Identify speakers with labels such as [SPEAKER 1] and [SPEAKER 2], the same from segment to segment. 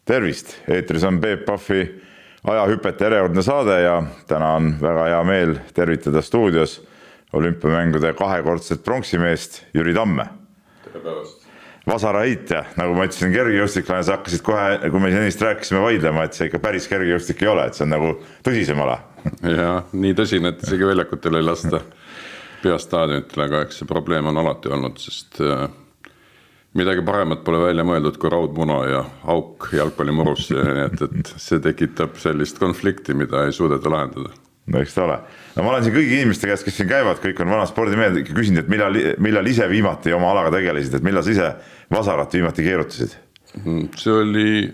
[SPEAKER 1] Tervist, eetris on Peep Pahvi ajahüpete järjekordne saade ja täna on väga hea meel tervitada stuudios olümpiamängude kahekordset pronksimeest Jüri Tamme.
[SPEAKER 2] Tere päevast.
[SPEAKER 1] Vasaraheitja, nagu ma ütlesin, kergejõustiklane, sa hakkasid kohe, kui me ennist rääkisime vaidlema, et see ikka päris kergejõustik ei ole, et see on nagu tõsisem ala.
[SPEAKER 2] Ja, nii tõsine, et isegi väljakutel ei lasta peastaadionitele, aga eks see probleem on alati olnud, sest midagi paremat pole välja mõeldud kui raudmuna ja auk jalgpallimurus, et see tekitab sellist konflikti, mida ei suudeta lahendada.
[SPEAKER 1] No eks ta ole. No ma olen siin kõigi inimeste käest, kes siin käivad, kõik on vana spordimehed, küsinud, et millal ise viimati oma alaga tegelesid, et millal sa ise vasarat viimati keerutasid?
[SPEAKER 2] See oli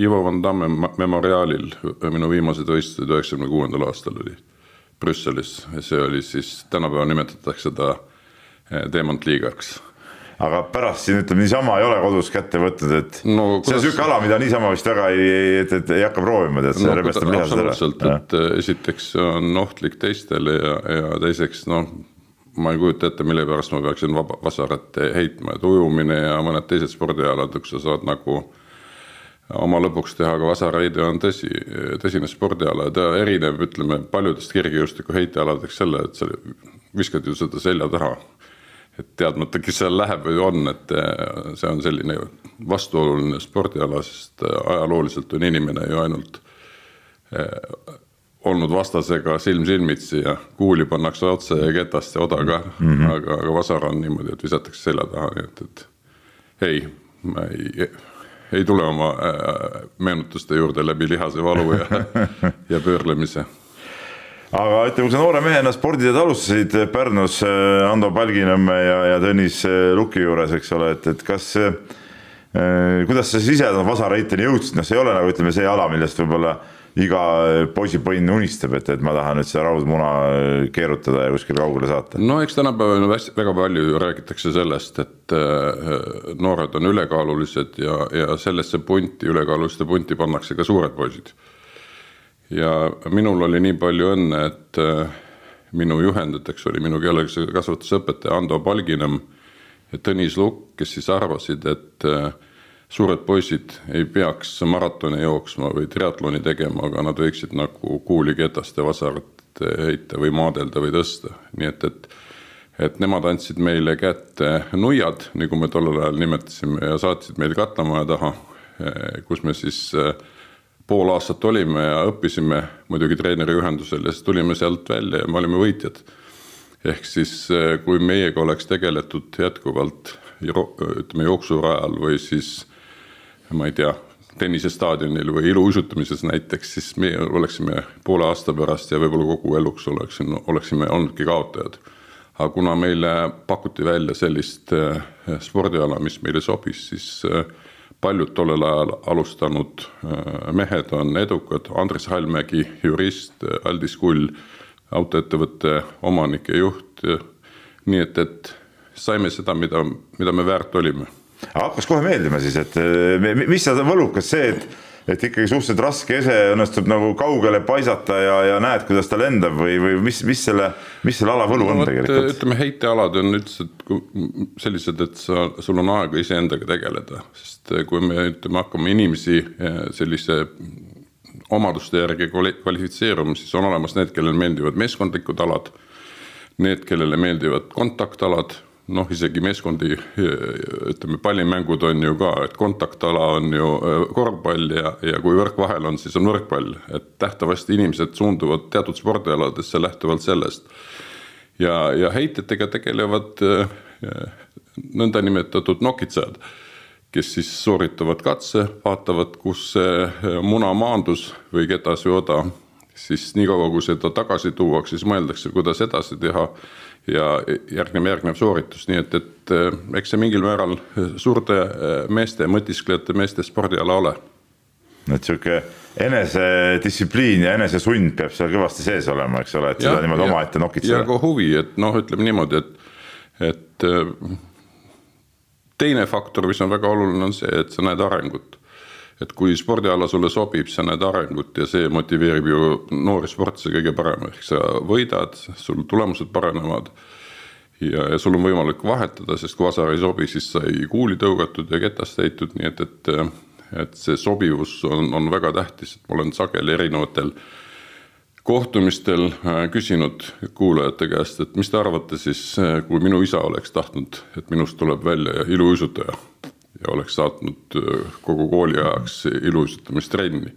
[SPEAKER 2] Ivo Van Damme memoriaalil, minu viimased võistlused 96. aastal oli Brüsselis. See oli siis, tänapäeva nimetatakse seda Demontliigaks. Aga pärast siin ütleme, niisama ei ole kodus kätte võtnud, et no, see on süke ala, mida niisama vist väga ei hakka proovima, et see rebestab lihased ära. Absoluutselt, et esiteks on ohtlik teistele ja teiseks, ma ei kujuta ette, mille pärast ma peaksin vasarat heitma, et ujumine ja mõned teised spordialad, kus sa saad nagu oma lõpuks teha, aga vasaraide on tõsine spordiala, ta erineb, ütleme, paljudest kergejõustiku heitealadeks selle, et sa viskad ju seda selja taha. Et teadmata, kes seal läheb või on, et see on selline vastuoluline spordiala, sest ajalooliselt on inimene ju ainult olnud vastasega silmitsi ja kuuli pannakse otse ja ketast ja odaga, aga vasar on niimoodi, et visatakse selja taha, nii et ei tule oma meenutuste juurde läbi lihase valu ja pöörlemise.
[SPEAKER 1] Aga ütleme, kui sa noore mehena sporditeed alustasid Pärnus Ando Palginõmme ja Tõnis Luki juures, eks ole, et kas, kuidas sa siis ise vasaraiteni jõudsid? See ei ole nagu, ütleme, see ala, millest võib-olla iga poisipõnn unistab, et ma tahan nüüd seda raudmuna keerutada ja kuskil kaugele saata.
[SPEAKER 2] No eks tänapäeval väga palju räägitakse sellest, et noored on ülekaalulised ja sellesse punti, ülekaaluliste punti pannakse ka suured poisid. Ja minul oli nii palju õnne, et minu juhendajateks oli minu keelekasvatusõpetaja Ando Palginõmm ja Tõnis Lukk, kes siis arvasid, et suured poisid ei peaks maratoni jooksma või triatloni tegema, aga nad võiksid nagu kuuli ketast ja vasarat heita või maadelda või tõsta. Nii et nemad andsid meile kätte nuiad, nagu me tollel ajal nimetasime, ja saatsid meil katlamaja taha, kus me siis pool aastat olime ja õppisime muidugi treeneri ühendusel ja siis tulime sealt välja ja me olime võitjad. Ehk siis, kui meiega oleks tegeletud jätkuvalt ütleme, jooksurajal või siis, ma ei tea, tennisestaadionil või iluuisutamises näiteks, siis me oleksime poole aasta pärast ja võib-olla kogu eluks oleksime olnudki kaotajad. Aga kuna meile pakuti välja sellist spordiala, mis meile sobis, siis paljud tollel ajal alustanud mehed on edukad, Andres Hallmägi, jurist, Aldis Kull, autoettevõtte omanik ja juht, nii et saime seda, mida me väärt olime.
[SPEAKER 1] Hakkas kohe meeldima siis, et mis sa võlukas see, et ikkagi suhteliselt raske ese õnnestub nagu kaugele paisata ja näed, kuidas ta lendab või mis selle ala võlu on tegelikult?
[SPEAKER 2] Ütleme, heitealad on üldiselt sellised, et sul on aega ise endaga tegeleda, sest kui me hakkame inimesi sellise omaduste järgi kvalifitseeruma, siis on olemas need, kellele meeldivad meeskondlikud alad, need, kellele meeldivad kontaktalad, isegi meeskondi, ütleme, pallimängud on ju ka, et kontaktala on ju korvpall ja kui võrk vahel on, siis on võrkpall. Et tähtavasti inimesed suunduvad teatud spordialadesse lähtuvalt sellest. Ja heitetega tegelevad nõnda nimetatud nokitsad, kes siis sooritavad katse, vaatavad, kus muna maandus või ketas või oda, siis nii kaua, kui seda tagasi tuuaks, siis mõeldakse, kuidas edasi teha ja järgnev sooritus. Nii et eks see mingil määral suurte meeste, mõtisklejate meeste spordiala ole.
[SPEAKER 1] Et siuke enesedistsipliin ja enesesund peab seal kõvasti sees olema, eks ole, et seda niimoodi oma ette nokitseda.
[SPEAKER 2] Ja ka huvi, et ütleme niimoodi, et teine faktor, mis on väga oluline, on see, et sa näed arengut. Et kui spordiala sulle sobib, sa näed arengut ja see motiveerib ju noori sportise kõige parem. Ehk sa võidad, sul tulemused paranevad ja sul on võimalik vahetada, sest kui vasar ei sobi, siis sai kuuli tõugatud ja ketast heitud, nii et et see sobivus on väga tähtis, et ma olen sageli erinevatel kohtumistel küsinud kuulajate käest, et mis te arvate siis, kui minu isa oleks tahtnud, et minust tuleb välja iluuisutaja ja oleks saatnud kogu kooli ajaks iluuisutamistrenni,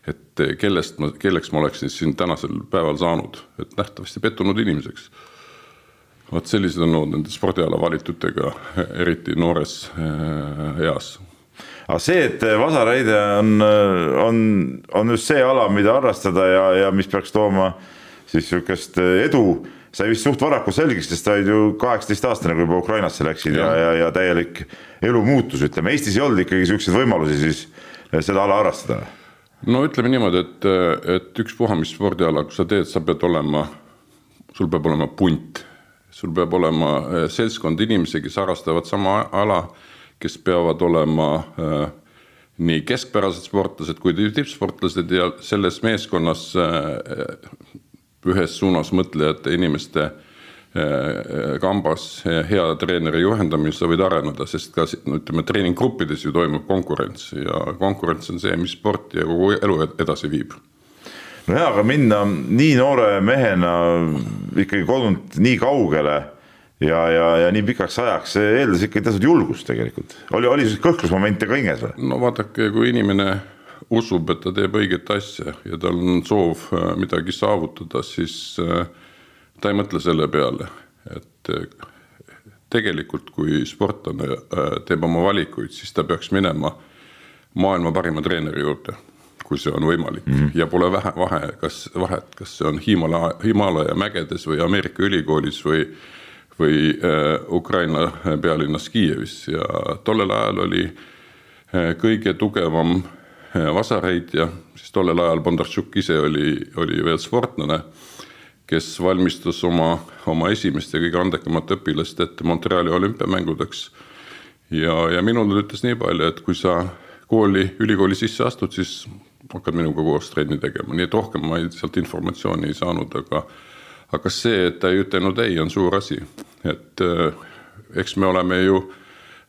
[SPEAKER 2] et kelleks ma oleksin siin tänasel päeval saanud, et nähtavasti pettunud inimeseks. Vaat sellised on olnud nende spordiala valitutega, eriti noores eas.
[SPEAKER 1] Aga see, et vasaraide on just see ala, mida harrastada ja mis peaks tooma siis sükest edu, sai vist suht varaku selgiks, sest ta ju 18-aastane, kui juba Ukrainasse läksid ja täielik elu muutus, ütleme. Eestis ei olnud ikkagi sükseid võimalusi siis seda ala harrastada?
[SPEAKER 2] No ütleme niimoodi, et üks puha, mis spordiala, kui sa teed, sul peab olema punt. Sul peab olema seltskond inimesi, kes harrastavad sama ala, kes peavad olema nii keskpärased sportlased kui tippsportlased ja selles meeskonnas ühes suunas mõtlejate inimeste kambas hea treeneri juhendamise võid areneda, sest ka treeninggruppides ju toimub konkurents ja konkurents on see, mis sporti ja kogu elu edasi viib.
[SPEAKER 1] No hea, aga minna nii noore mehena ikkagi kodunt nii kaugele ja nii pikaks ajaks, see eeldas ikkagi teatud julgust tegelikult. Oli siis kõhklusmomente ka hinges või?
[SPEAKER 2] No vaadake, kui inimene usub, et ta teeb õiget asja ja tal on soov midagi saavutada, siis ta ei mõtle selle peale, et tegelikult kui sportlane teeb oma valikuid, siis ta peaks minema maailma parima treeneri juurde, kui see on võimalik. Ja pole vahet, kas see on Himalaja mägedes või Ameerika ülikoolis või Ukraina pealinnas Kiievis. Ja tollel ajal oli kõige tugevam vasarheitja, siis tollel ajal Bondarchuk ise oli veel sportlane, kes valmistus oma esimest ja kõige andekamat õpilast ette Montreali olümpiamängudeks. Ja minul ütles nii palju, et kui sa ülikooli sisse astud, siis hakkad minuga koos trenni tegema. Nii et rohkem ma sealt informatsiooni ei saanud, aga see, et ta ei ütelnud ei, on suur asi. Et eks me oleme ju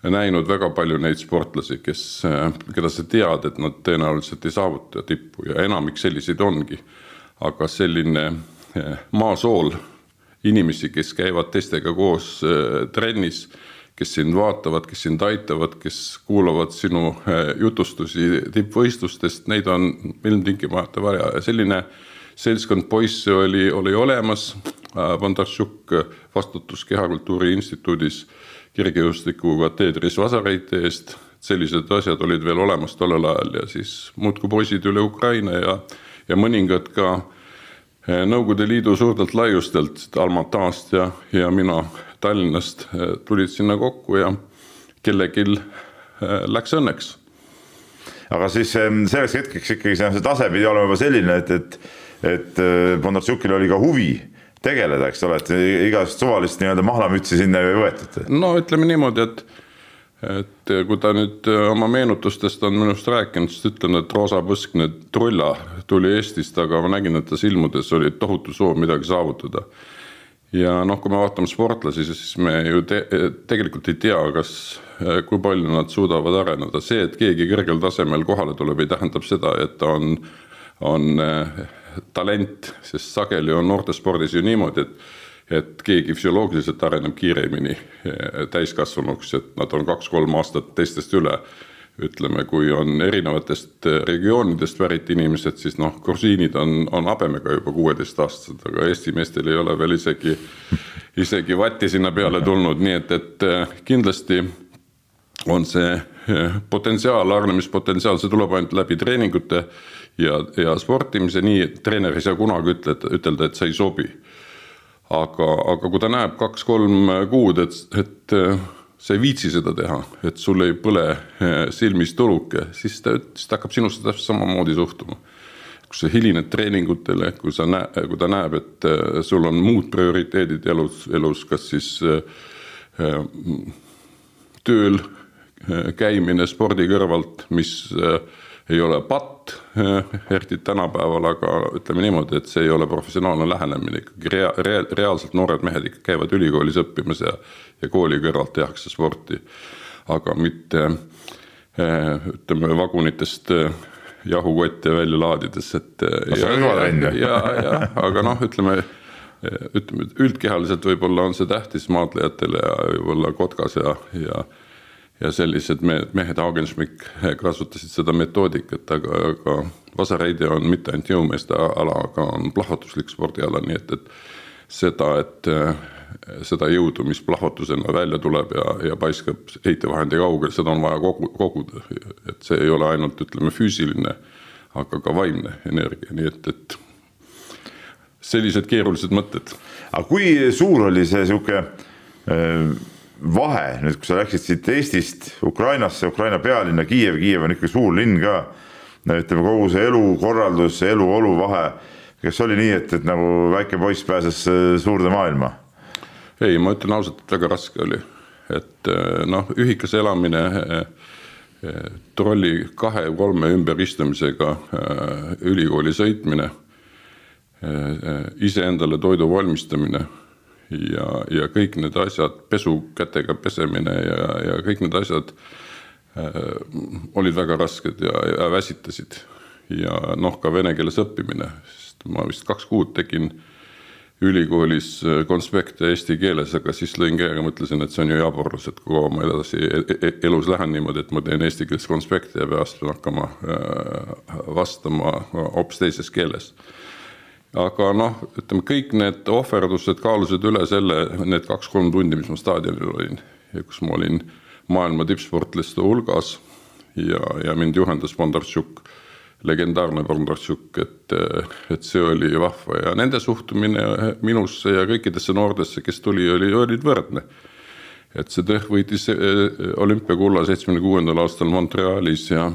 [SPEAKER 2] näinud väga palju neid sportlasi, keda sa tead, et nad tõenäoliselt ei saavuta tippu ja enamik selliseid ongi. Aga selline maasool inimesi, kes käivad teistega koos trennis, kes sind vaatavad, kes sind aitavad, kes kuulavad sinu jutustusi tippvõistlustest, neid on ilmtingimata vaja. Ja selline seltskond poisse oli olemas. Bondarchuk vastutus Kehakultuuri instituudis kirgejõustiku kateedris vasareite eest. Sellised asjad olid veel olemas tollel ajal ja siis muudku poisid üle Ukraina ja mõningad ka Nõukogude Liidu suurtelt laiustelt, Almatast ja mina Tallinnast tulid sinna kokku ja kellegil läks õnneks.
[SPEAKER 1] Aga siis selleks hetkeks ikkagi see tase pidi olema juba selline, et Bondarchukil oli ka huvi tegeleda, eks ole, et igast suvalist mahlamütsi sinna ei võetud.
[SPEAKER 2] No ütleme niimoodi, et kui ta nüüd oma meenutustest on minust rääkinud, siis ütlen, et Roosa Põskne Trulla tuli Eestist, aga ma nägin, et ta silmudes oli tohutu soov midagi saavutada. Ja kui me vaatame sportlasi, siis me ju tegelikult ei tea, kui palju nad suudavad areneda. See, et keegi kõrgel tasemel kohale tuleb, ei tähendab seda, et ta on talent, sest sageli on noortespordis ju niimoodi, et keegi füsioloogiliselt areneb kiiremini täiskasvanuks, et nad on 2-3 aastat teistest üle. Ütleme, kui on erinevatest regioonidest pärit inimesed, siis grusiinid on habemega juba 16 aastased, aga Eesti meestel ei ole veel isegi vatti sinna peale tulnud, nii et kindlasti on see potentsiaal, arenemispotentsiaal, see tuleb ainult läbi treeningute ja sportimise, nii et treener ei saa kunagi ütelda, et sa ei sobi. Aga kui ta näeb 2-3 kuud, et sa ei viitsi seda teha, et sul ei põle silmis tuluke, siis ta hakkab sinusse täpselt samamoodi suhtuma. Kui sa hilined treeningutele, kui ta näeb, et sul on muud prioriteedid elus, kas siis tööl käimine spordi kõrvalt, mis ei ole patt, eriti tänapäeval, aga ütleme niimoodi, et see ei ole professionaalne lähenemine. Reaalselt noored mehed ikka käivad ülikoolis õppimas ja kooli kõrvalt tehakse sporti, aga mitte ütleme vagunitest jahukotte välja laadides, et aga noh, ütleme üldkehaliselt võib-olla on see tähtis maadlejatele ja võib-olla Kotkas ja sellised mehed Hagenschmick kasutasid seda metoodikat, aga vasareide on mitte ainult jõumeeste ala, aga on plahvatuslik spordiala, nii et seda jõudu, mis plahvatusena välja tuleb ja paiskab heitevahendi kaugel, seda on vaja koguda, et see ei ole ainult, ütleme, füüsiline, aga ka vaimne energia, nii et sellised keerulised mõtted.
[SPEAKER 1] Aga kui suur oli see siuke vahe, nüüd kui sa läksid siit Eestist Ukrainasse, Ukraina pealinna Kiiev on ikka suur linn ka, ütleme kogu see elukorraldus, eluolu vahe, kas oli nii, et nagu väike poiss pääses suurde maailma?
[SPEAKER 2] Ei, ma ütlen ausalt, et väga raske oli, et noh, ühikas elamine, trolli 2-3 ümberistumisega ülikooli sõitmine, ise endale toidu valmistamine ja kõik need asjad, pesukätega pesemine ja kõik need asjad olid väga rasked ja väsitasid. Ja noh, ka vene keeles õppimine, sest ma vist 2 kuud tegin ülikoolis konspekte eesti keeles, aga siis lõin käega, mõtlesin, et see on ju jaborlus, et kui ma edasi elus lähen niimoodi, et ma teen eesti keeles konspekte ja peast hakkama vastama hoopis teises keeles. Aga noh, ütleme, kõik need ohverdused kaalusid üle selle, need 2-3 tundi, mis ma staadionil olin ja kus ma olin maailma tippsportliste hulgas ja mind juhendas Bondarchuk, legendaarne Bondarchuk, et see oli vahva ja nende suhtumine minusse ja kõikidesse noordesse, kes olid võrdne. Et see tõh võitis olümpiakulla 76. aastal Montrealis ja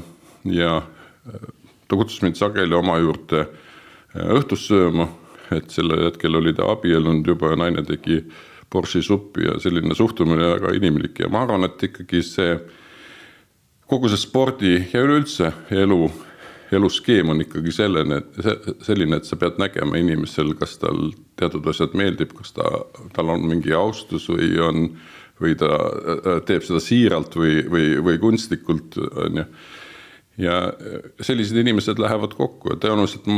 [SPEAKER 2] ta kutsus mind sageli oma juurde õhtus sööma, et sellel hetkel oli ta abiellunud juba ja naine tegi Borši suppi ja selline suhtumine väga inimlik ja ma arvan, et ikkagi kogu see spordi ja üleüldse eluskeem on ikkagi selline, et sa pead nägema inimesel, kas tal teatud asjad meeldib, kas tal on mingi austus või ta teeb seda siiralt või kunstlikult. Ja sellised inimesed lähevad kokku ja tõenäoliselt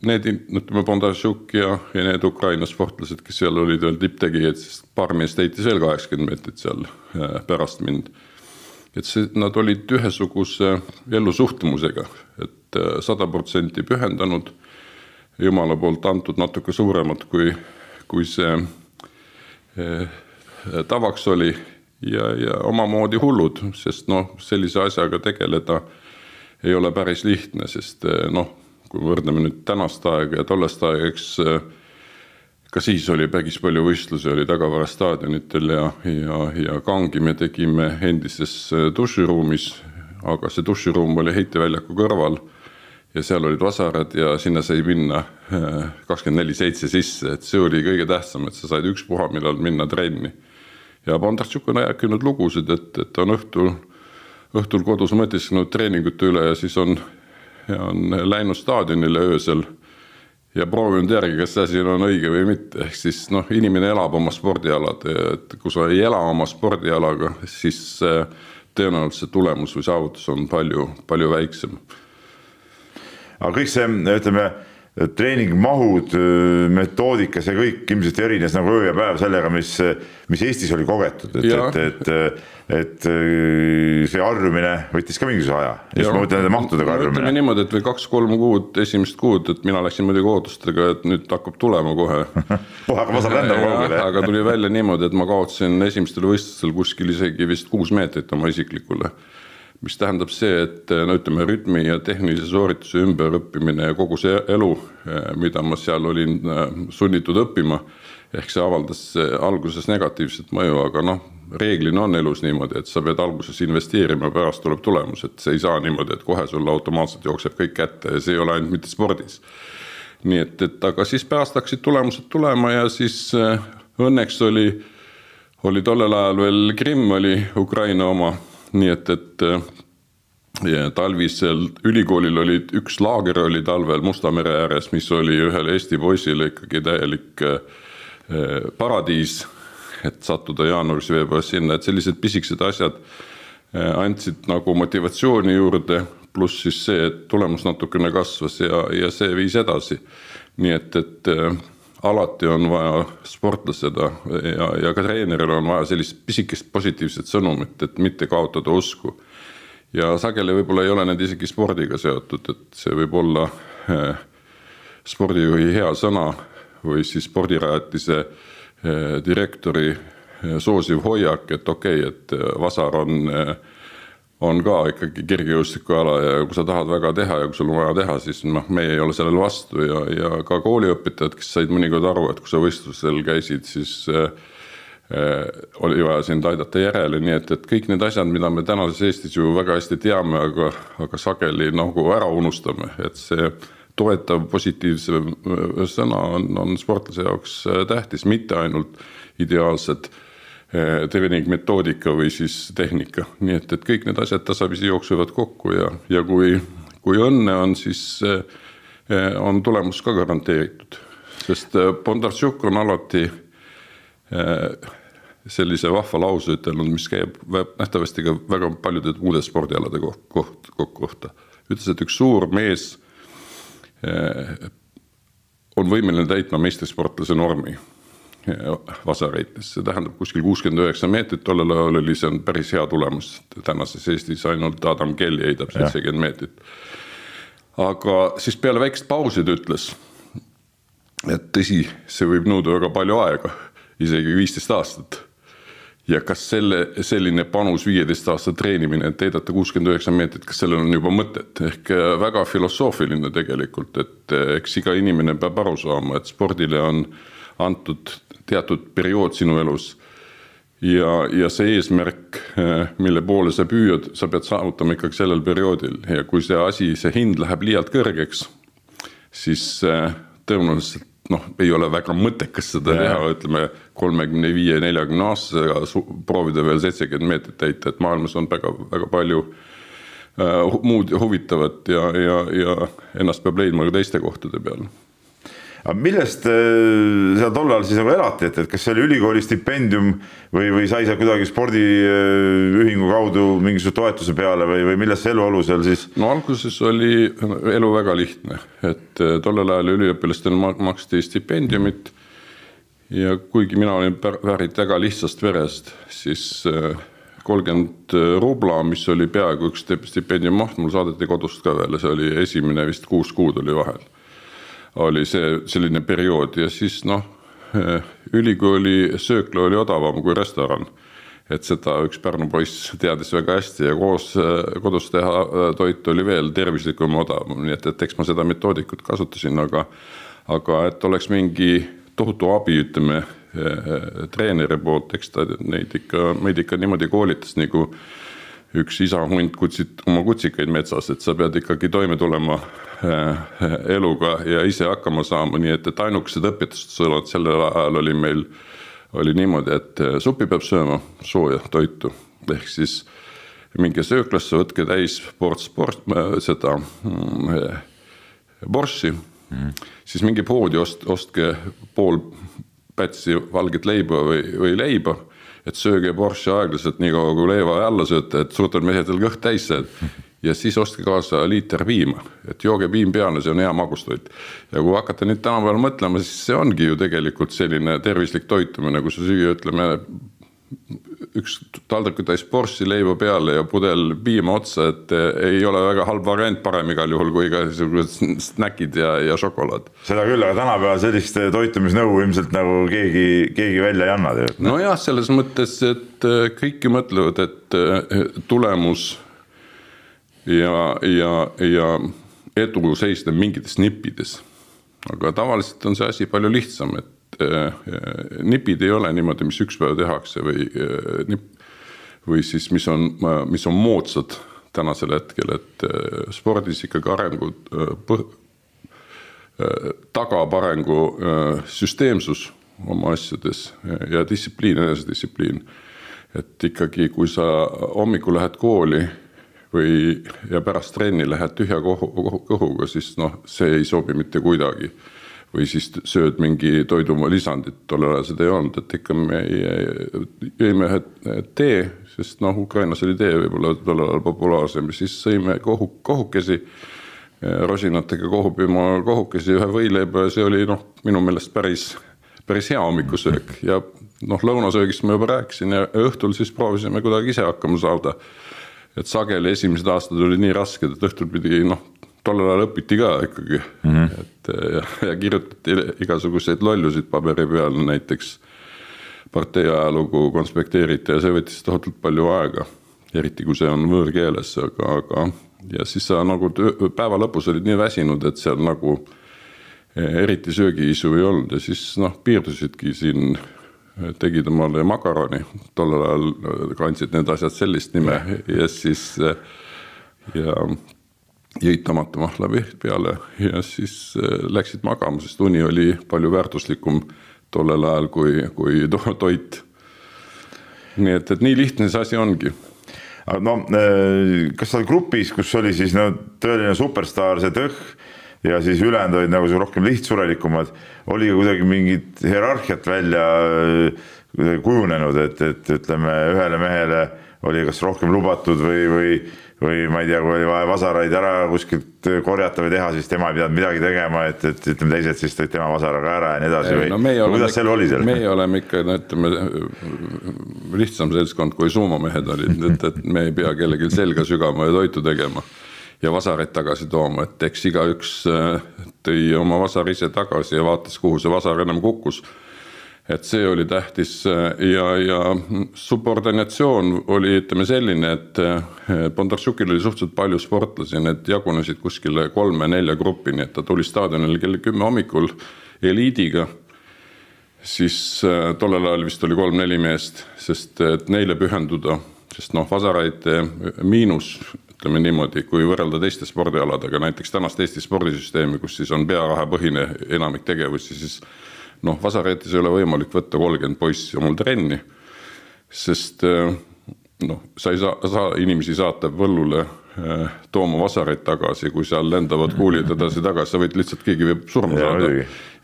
[SPEAKER 2] need, ütleme, Bondarchuk ja need Ukraina sportlased, kes seal olid veel tipptegijad, sest paar meest heitis veel 80 meetrit seal pärast mind. Et nad olid ühesuguse ellusuhtumusega, et 100% pühendanud, Jumala poolt antud natuke suuremat, kui see tavaks oli ja omamoodi hullud, sest sellise asjaga tegeleda ei ole päris lihtne, sest kui võrdleme nüüd tänast aega ja tollest aega, eks ka siis oli päris palju võistlusi, oli Tagavara staadionitel ja kangi me tegime endises duširuumis, aga see duširuum oli heiteväljaku kõrval ja seal olid vasarad ja sinna sai minna 24/7 sisse, et see oli kõige tähtsam, et sa said ükspuha, millal minna trenni. Ja Bondarchuk on rääkinud lugusid, et on õhtul kodus mõtiskenud treeningute üle ja siis on läinud staadionile öösel ja proovinud järgi, kas see asi on õige või mitte. Ehk siis inimene elab oma spordialad, et kui sa ei ela oma spordialaga, siis tõenäoliselt tulemus või saavutus on palju, palju väiksem.
[SPEAKER 1] Aga kõik see, ütleme, treeningmahud, metoodikas ja kõik ilmselt erines nagu öö ja päev sellega, mis Eestis oli kogetud, et see harjumine võttis ka mingisuguse aja. Just ma mõtlen nende mahtudega harjumine.
[SPEAKER 2] Ütleme niimoodi, et või 2-3 kuud, esimest kuud, et mina läksin muidugi ootustega, et nüüd hakkab tulema kohe.
[SPEAKER 1] Aga ma saan rändama kogu.
[SPEAKER 2] Aga tuli välja niimoodi, et ma kaotsin esimestel võistlustel kuskil isegi vist 6 meetrit oma isiklikule. Mis tähendab see, et ütleme, rütmi ja tehnilise soorituse ümberõppimine ja kogu see elu, mida ma seal olin sunnitud õppima, ehk see avaldas alguses negatiivset mõju, aga reeglina on elus niimoodi, et sa pead alguses investeerima, pärast tuleb tulemus, et see ei saa niimoodi, et kohe sulle automaatselt jookseb kõik kätte ja see ei ole ainult mitte spordis. Nii et aga siis pärast hakkasid tulemused tulema ja siis õnneks oli tollel ajal veel Krimm oli Ukraina oma. Nii et talvisel ülikoolil oli üks laager oli talvel Musta mere ääres, mis oli ühele Eesti poisile ikkagi täielik paradiis, et sattuda jaanuaris veebruaris sinna, et sellised pisiksed asjad andsid nagu motivatsiooni juurde, pluss siis see, et tulemus natukene kasvas ja see viis edasi. Nii et alati on vaja sportlaseda ja ka treeneril on vaja sellist pisikest positiivset sõnumit, et mitte kaotada usku. Ja sageli võib-olla ei ole need isegi spordiga seotud, et see võib olla spordijuhi hea sõna või siis spordirajatise direktori soosiv hoiak, et okei, et Vasar on ka ikkagi kergejõustikuala ja kui sa tahad väga teha ja kui sul on vaja teha, siis meie ei ole sellel vastu ja ka kooliõpetajad, kes said mõnikord aru, et kui sa võistlusel käisid, siis oli vaja sind aidata järele, nii et kõik need asjad, mida me tänases Eestis ju väga hästi teame, aga sageli nagu ära unustame, et see toetav positiivse sõna on sportlase jaoks tähtis, mitte ainult ideaalsed treeningmetoodika või siis tehnika. Nii et kõik need asjad tasapisi jooksuvad kokku ja kui õnne on, siis on tulemus ka garanteeritud. Sest Bondarchuk on alati sellise vahva lause ütelnud, mis käib nähtavasti ka väga paljude muude spordialade kohta. Ütles, et üks suur mees on võimeline täitma meistrisportlase normi Vasareites. See tähendab kuskil 69 meetrit, tollel ajal oli see on päris hea tulemus. Tänases Eestis ainult Adam Kelly heidab 70 meetrit. Aga siis peale väikest pausid ütles, et tõsi, see võib nõuda väga palju aega, isegi 15 aastat. Ja kas selline panus 15 aastat treenimine, et heidata 69 meetrit, kas sellel on juba mõtet? Ehk väga filosoofiline tegelikult, et eks iga inimene peab aru saama, et spordile on antud teatud periood sinu elus ja see eesmärk, mille poole sa püüad, sa pead saavutama ikkagi sellel perioodil ja kui see hind läheb liialt kõrgeks, siis tõenäoliselt ei ole väga mõttekas seda teha, ütleme 35-40 aastasega proovida veel 70 meetrit täita, et maailmas on väga, väga palju muud huvitavat ja ennast peab leidma ka teiste kohtade peal.
[SPEAKER 1] Aga millest seal tollal siis nagu elati, et kas see oli ülikooli stipendium või sai seal kuidagi spordiühingu kaudu mingisuguse toetuse peale või millest see eluolu seal siis?
[SPEAKER 2] No alguses oli elu väga lihtne, et tollel ajal üliõpilastel maksti stipendiumit ja kuigi mina olin pärit väga lihtsast verest, siis 30 rubla, mis oli peaaegu üks stipendium maht, mul saadeti kodust ka veel, see oli esimene vist 6 kuud oli vahel. Oli see selline periood ja siis ülikooli söökla oli odavam kui restoran. Et seda üks Pärnu poiss teadis väga hästi ja koos kodus teha toit oli veel tervislikum odavam. Nii et eks ma seda metoodikut kasutasin, aga et oleks mingi tohutu abi, ütleme, treeneri poolt, eks ta meid ikka niimoodi koolitas nagu üks isa-hunt oma kutsikaid metsas, et sa pead ikkagi toime tulema eluga ja ise hakkama saama, nii et ainukesed õpetused sellel ajal oli meil niimoodi, et suppi peab sööma sooja toitu, ehk siis minge sööklasse, võtke täis seda borssi, siis mingi poodi ostke pool pätsi valget leiba või leiba, et sööge borssi aeglaselt nii kaua kui leiva alla sööte, et suurtel mehetel kõht täis ja siis ostke kaasa liiter piima, et jooge piim peale, see on hea magustoit. Ja kui hakata nüüd tänapäeval mõtlema, siis see ongi ju tegelikult selline tervislik toitumine, kui sa süüa, ütleme, üks taldrikutäis borssi leiva peale ja pudel piima otsa, et ei ole väga halb variant, parem igal juhul kui ka snäkid ja šokolaad.
[SPEAKER 1] Seda küll, aga tänapäeval sellist toitumisnõu ilmselt nagu keegi välja ei anna.
[SPEAKER 2] No jah, selles mõttes, et kõiki mõtlevad, et tulemus ja edu seisneb mingites nippides. Aga tavaliselt on see asi palju lihtsam, et nipid ei ole niimoodi, mis üks päev tehakse või siis mis on moodsad tänasel hetkel, et spordis ikkagi arengu tagab arengu süsteemsus oma asjades ja distsipliin, enesedistsipliin. Et ikkagi, kui sa hommikul lähed kooli ja pärast trenni lähed tühja kõhuga, siis see ei sobi mitte kuidagi. või siis sööd mingi toidulisandit, tollel ajal seda ei olnud, et ikka me jõime tee, sest Ukrainas oli tee võib-olla tollel ajal populaarsem, siis sõime kohukesi, rosinatega kohupiima kohukesi, ühe võileiba ja see oli minu meelest päris hea hommikusöök ja lõunasöögist ma juba rääkisin ja õhtul siis proovisime kuidagi ise hakkama saada. Et sageli esimesed aastad oli nii rasked, et õhtul pidi, tollel ajal õpiti ka ikkagi. Et, ja kirjutati igasuguseid lollusid paberi peal, näiteks partei ajalugu konspekteeriti ja see võttis tohutult palju aega, eriti kui see on võõrkeeles, aga ja siis sa päeva lõpus olid nii väsinud, et seal eriti söögiisu ei olnud ja siis piirdusidki siin, tegid omale makaroni, tollel ajal kandsid need asjad sellist nime ja siis jõid tomatomahla peale ja siis läksid magama, sest uni oli palju väärtuslikum tollel ajal kui toit. Nii et nii lihtne see asi ongi.
[SPEAKER 1] Kas sa grupis, kus oli siis tõeline superstaar, see Tõh, ja siis ülejäänud olid nagu rohkem lihtsurelikumad, oli ka kuidagi mingit hierarhiat välja kujunenud, et ütleme, ühele mehele oli kas rohkem lubatud või ma ei tea, kui oli vaja vasaraid ära kuskilt korjata või teha, siis tema ei pidanud midagi tegema, et ütleme teised siis tõid tema vasaraga ära ja nii edasi või kuidas seal oli seal?
[SPEAKER 2] Meie oleme ikka, lihtsam seltskond kui suumamehed olid, et me ei pea kellelgi selga sügama ja toitu tegema ja vasareid tagasi tooma, et eks igaüks tõi oma vasar ise tagasi ja vaatas, kuhu see vasar enam kukkus. Et see oli tähtis ja subordinatsioon oli selline, et Bondarsukil oli suhteliselt palju sportlasi, need jagunesid kuskile 3-4 gruppi, nii et ta tuli staadionil kell 10 hommikul eliidiga, siis tollel ajal vist oli 3-4 meest, sest et neile pühenduda, sest vasaraid miinus, ütleme niimoodi, kui võrrelda teiste spordialadega, näiteks tänast Eesti spordisüsteemi, kus siis on pearahapõhine enamik tegevusi, siis vasareetis ei ole võimalik võtta 30 poissi omal trenni, sest sa ei saa inimesi saata võllule tooma vasareid tagasi, kui seal lendavad kuulid edasi tagasi, sa võid lihtsalt keegi võib surma saada.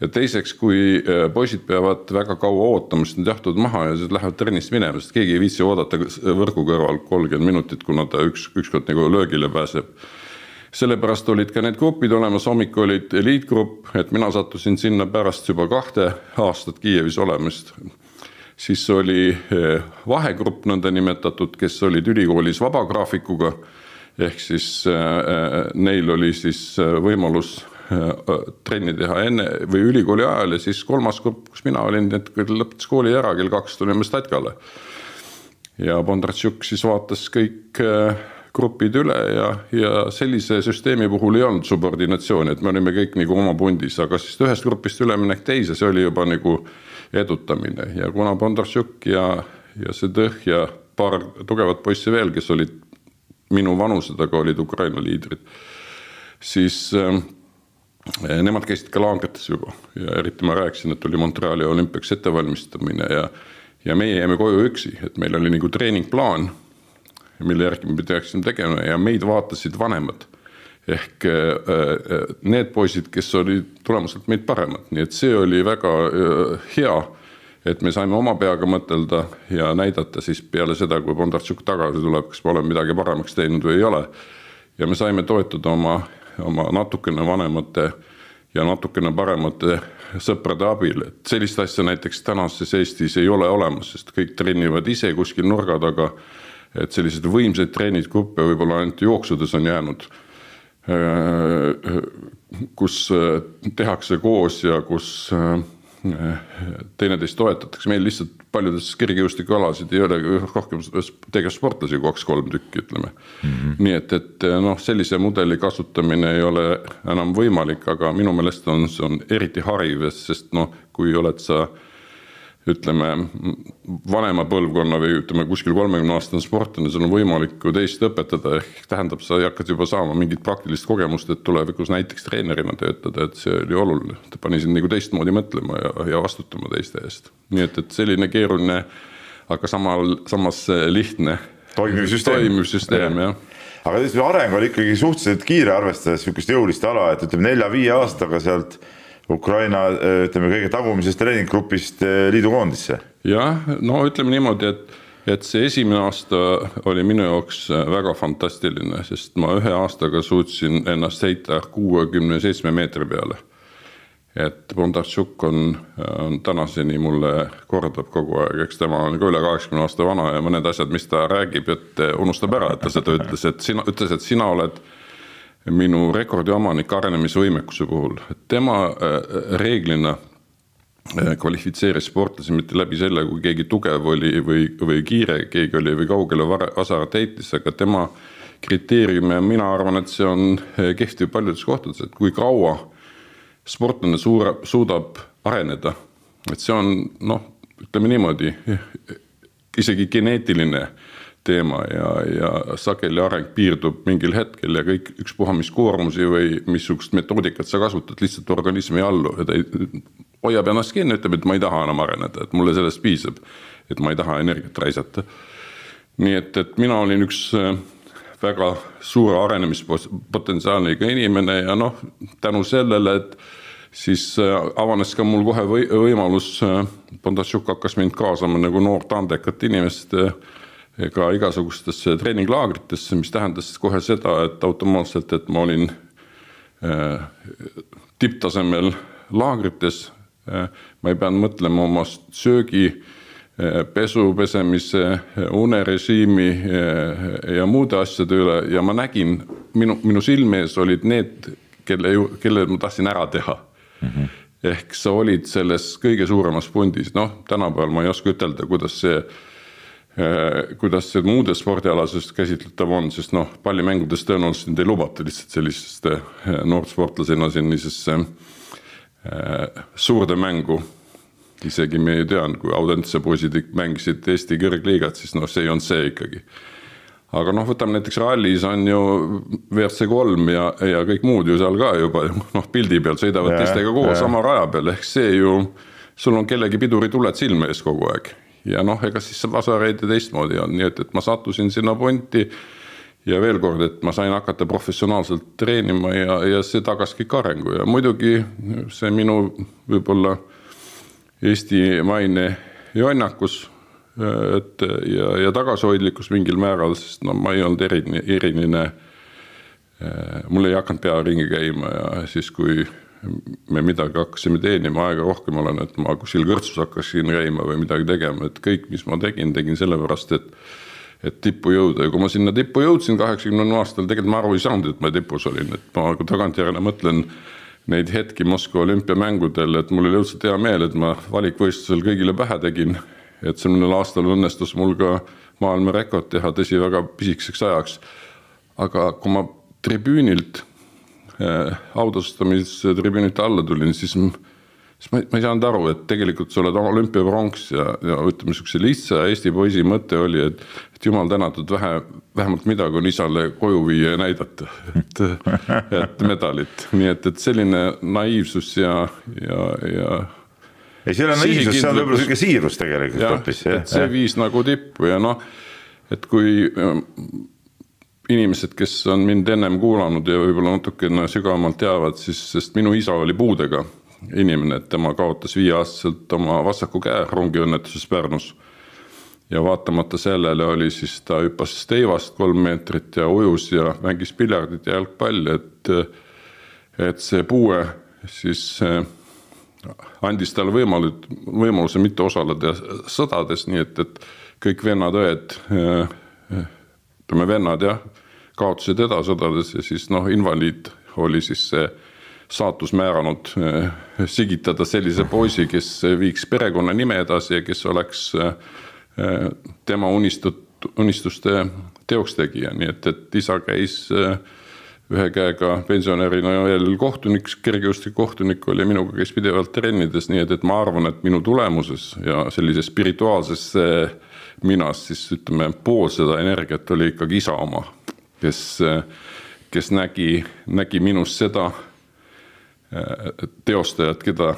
[SPEAKER 2] Ja teiseks, kui poisid peavad väga kaua ootama, sest nad jahtuvad maha ja siis lähevad trennist minema, sest keegi ei viitsi oodata võrgu kõrval 30 minutit, kuna ta ükskord nagu löögile pääseb. Sellepärast olid ka need grupid olemas, hommik olid eliitgrupp, et mina sattusin sinna pärast juba 2 aastat Kiievis olemist. Siis oli vahegrupp nõnda nimetatud, kes olid ülikoolis vabagraafikuga, ehk siis neil oli siis võimalus trenni teha enne või ülikooli ajal ja siis 3. grupp, kus mina olin, et kui lõpetas kooli ära, kell 2 tulime Statkale. Ja Bondarsuk siis vaatas kõik grupid üle ja sellise süsteemi puhul ei olnud subordinatsiooni, et me olime kõik nagu oma pundis, aga siis ühest grupist üleminek teise, see oli juba nagu edutamine ja kuna Bondarsuk ja see Tõh ja paar tugevat poissi veel, kes olid minu vanused, aga olid Ukraina liidrid, siis nemad käisid ka laagrites juba ja eriti ma rääkisin, et oli Montreali olümpiaks ettevalmistamine ja meie jäime koju üksi, et meil oli nagu treeningplaan, mille järgi me peaksime tegema ja meid vaatasid vanemad ehk need poisid, kes olid tulemuselt meid paremad, nii et see oli väga hea, et me saime oma peaga mõtelda ja näidata siis peale seda, kui Bondarsuk tagasi tuleb, kas me oleme midagi paremaks teinud või ei ole ja me saime toetuda oma natukene vanemate ja natukene paremate sõprade abil, et sellist asja näiteks tänases Eestis ei ole olemas, sest kõik treenivad ise kuskil nurga taga, et sellised võimsaid treenidgruppe võib-olla ainult jooksudes on jäänud, kus tehakse koos ja kus teineteist toetatakse, meil lihtsalt paljudes kergejõustikualasid ei ole rohkem tegevsportlasi kui 2-3 tükki, ütleme. Nii et sellise mudeli kasutamine ei ole enam võimalik, aga minu meelest on eriti hariv, sest kui oled sa ütleme vanema põlvkonna või ütleme kuskil 30-aastane sportlane, sul on võimalik teist õpetada, ehk tähendab, sa hakkad juba saama mingit praktilist kogemust, et tulevikus näiteks treenerina töötada, et see oli oluline. Ta pani sind nagu teistmoodi mõtlema ja vastutama teiste eest. Nii et selline keeruline, aga samas lihtne
[SPEAKER 1] toimiv
[SPEAKER 2] süsteem, jah.
[SPEAKER 1] Aga areng oli ikkagi suhteliselt kiire arvestades sükest jõulist ala, et ütleme 4-5 aastaga sealt Ukraina, ütleme, kõige tagumisest treeninggrupist liidukoondisse.
[SPEAKER 2] Jah, no ütleme niimoodi, et see esimene aasta oli minu jaoks väga fantastiline, sest ma ühe aastaga suutsin ennast heita 67 meetri peale. Et Bondarchuk on tänaseni mulle kordab kogu aeg, eks tema on ka üle 80 aasta vana ja mõned asjad, mis ta räägib, et unustab ära, et ta seda ütles, et sina oled minu rekordi omanik arenemisvõimekuse puhul. Et tema reeglina kvalifitseeris sportlasi mitte läbi selle, kui keegi tugev oli või kiire, keegi oli või kaugele vasarat heitis, aga tema kriteeriumi ja mina arvan, et see on kehtiv paljudes kohtades, et kui kaua sportlane suudab areneda, et see on, ütleme niimoodi, isegi geneetiline teema ja sageli areng piirdub mingil hetkel ja kõik ükspuha mis koormusi või missugust metoodikat sa kasutad, lihtsalt organismi allu ja ta hoiab ennast kinni, ütleb, et ma ei taha enam areneda, et mulle sellest piisab, et ma ei taha energiat raisata. Nii et mina olin üks väga suure arenemispotentsiaaliga inimene ja tänu sellele, et siis avanes ka mul kohe võimalus, Bondarchuk hakkas mind kaasama nagu noort andekat inimest ka igasugustesse treeninglaagritesse, mis tähendas kohe seda, et automaatselt, et ma olin tipptasemel laagrites, ma ei peanud mõtlema oma söögi, pesu, pesemise, unerežiimi ja muude asjade üle ja ma nägin, minu silmees olid need, kelle ma tahtsin ära teha. Ehk sa olid selles kõige suuremas pundis. Tänapäeval ma ei oska ütelda, kuidas see muudes spordialasest käsitletav on, sest pallimängudes tõenäoliselt ei lubata lihtsalt selliseste noortsportlasena sellisesse suurde mängu. Isegi me ei tean, kui Audentse poisid mängisid Eesti kõrgliigat, siis see on see ikkagi. Aga võtame näiteks rallis on ju WRC3 ja kõik muud ju seal ka juba pildi peal sõidavad teistega koos sama raja peal, ehk see ju, sul on kellegi piduri tuled silme ees kogu aeg. Ja ega siis vasareid ja teistmoodi on, nii et ma sattusin sinna punti ja veel kord, et ma sain hakata professionaalselt treenima ja see tagas kõik arengu ja muidugi see minu võib-olla Eesti maine jonnakus ja tagasihoidlikkus mingil määral, sest ma ei olnud eriline, mul ei hakanud pea ringi käima ja siis kui me midagi hakkasime teenima, aega rohkem olen, et ma kuskil kõrtsus hakkasin käima või midagi tegema, et kõik, mis ma tegin sellepärast, et tippu jõuda ja kui ma sinna tippu jõudsin 80 aastal, tegelikult ma aru ei saanud, et ma tipus olin, et ma tagantjärele mõtlen neid hetki Moskva olümpiamängudel, et mul oli õudselt hea meel, et ma valikvõistlusel kõigile pähe tegin, et sellel aastal õnnestus mul ka maailma rekord teha, tõsi väga pisikeseks ajaks. Aga kui ma tribüünilt, autostamistribüünilt alla tulin, siis ma ei saanud aru, et tegelikult sa oled olümpiapronks ja ütleme niisuguse lihtsa Eesti poisi mõte oli, et jumal tänatud vähemalt midagi on isale koju viia ja näidata, et medalit. Nii et selline naiivsus ja
[SPEAKER 1] ei, see on naiivsus, see on võib-olla selline siirus tegelikult.
[SPEAKER 2] Et see viis nagu tippu ja et kui inimesed, kes on mind ennem kuulanud ja võib-olla natukene sügavamalt teavad, siis sest minu isa oli puudega inimene, et tema kaotas 5-aastaselt oma vasaku käe rongiõnnetuses Pärnus ja vaatamata sellele oli siis ta hüppas teivast 3 meetrit ja ujus ja mängis piljardit ja jalgpalli, et see puue siis andis talle võimaluse mitte osaleda sõdades, nii et kõik vennad-õed, vennad kaotasid sõdades ja siis invaliid oli siis see saatus määranud sigitada sellise poisi, kes viiks perekonna nime edasi ja kes oleks tema unistuste teoks tegija. Nii et isa käis ühe käega pensionärina veel kohtunik, kergejõustik kohtunik oli minuga käis pidevalt trennides, nii et ma arvan, et minu tulemuses ja sellise spirituaalses minas siis ütleme pool seda energiat oli ikkagi isa oma, kes nägi minus seda teostajat, keda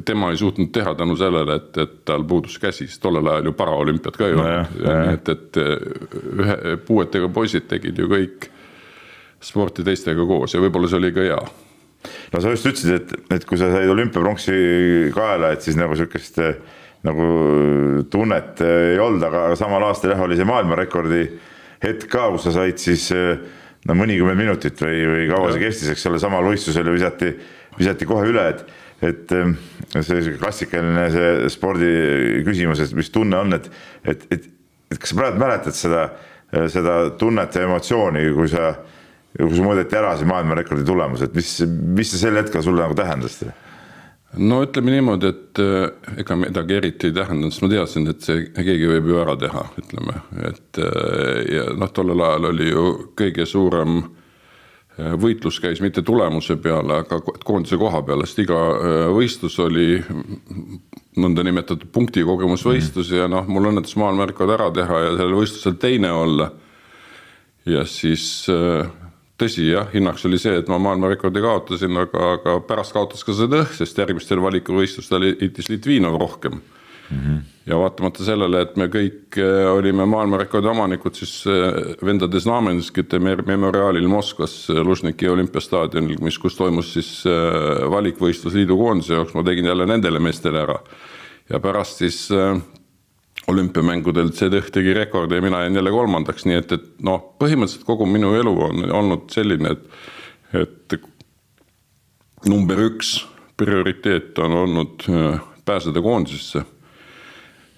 [SPEAKER 2] tema ei suutnud teha tänu sellele, et tal puudus käsi, sest tollel ajal ju paraolümpiad ka ju. Et puuetega poisid tegid ju kõik sporti teistega koos ja võib-olla see oli ka hea.
[SPEAKER 1] no sa just ütlesid, et kui sa said olümpiapronksi kaela, et siis nagu sükest nagu tunnet ei olnud, aga samal aastal jah, oli see maailmarekordi hetk ka, kus sa said siis no mõnikümmend minutit või kaua see kestis, eks ole, samal võistlusel visati kohe üle, et see klassikaline see spordi küsimus, et mis tunne on, et kas sa praegu mäletad seda tunnet ja emotsiooni, kui sa mõõdeti ära see maailmarekordi tulemus, et mis see sel hetkel sulle nagu tähendas?
[SPEAKER 2] No ütleme niimoodi, et ega midagi eriti ei tähendanud, sest ma teadsin, et see keegi võib ju ära teha, ütleme. Ja tollel ajal oli ju kõige suurem võitlus käis mitte tulemuse peale, aga koondise koha peale, sest iga võistlus oli nõnda nimetatud punktikogemusvõistlus ja mul õnnetus maailmarekord ära teha ja sellel võistlusel teine olla. Ja siis tõsi jah, hinnaks oli see, et ma maailmarekordi kaotasin, aga pärast kaotas ka seda, sest järgmistel valikuvõistlustel itis Litvinov rohkem. Ja vaatamata sellele, et me kõik olime maailmarekordi omanikud, siis vendade Znamenskite memoriaalil Moskvas Lužniki olümpiastaadionil, kus toimus siis valikvõistlus liidu koondise jaoks, ma tegin jälle nendele meestele ära. Ja pärast siis olümpiamängudel CDH tegi rekordi ja mina jäin jälle kolmandaks, nii et põhimõtteliselt kogu minu elu on olnud selline, et number 1 prioriteet on olnud pääseda koondisesse.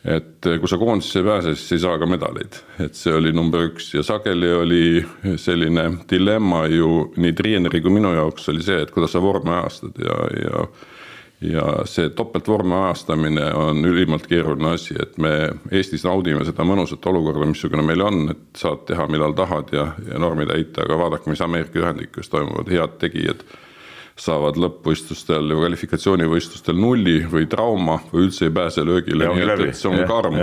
[SPEAKER 2] Et kui sa koondisesse ei pääse, siis ei saa ka medaleid. Et see oli number 1 ja sageli oli selline dilemma ju nii treeneri kui minu jaoks oli see, et kuidas sa vormi ajastad ja see topeltvormi ajastamine on ülimalt keeruline asi, et me Eestis naudime seda mõnusat olukorda, missugune meil on, et saad teha millal tahad ja normi täita, aga vaadake, mis Ameerika Ühendriikides toimuvad head tegijad saavad lõppvõistlustel ja kvalifikatsioonivõistlustel 0 või trauma või üldse ei pääse löögile, nii et see on karm.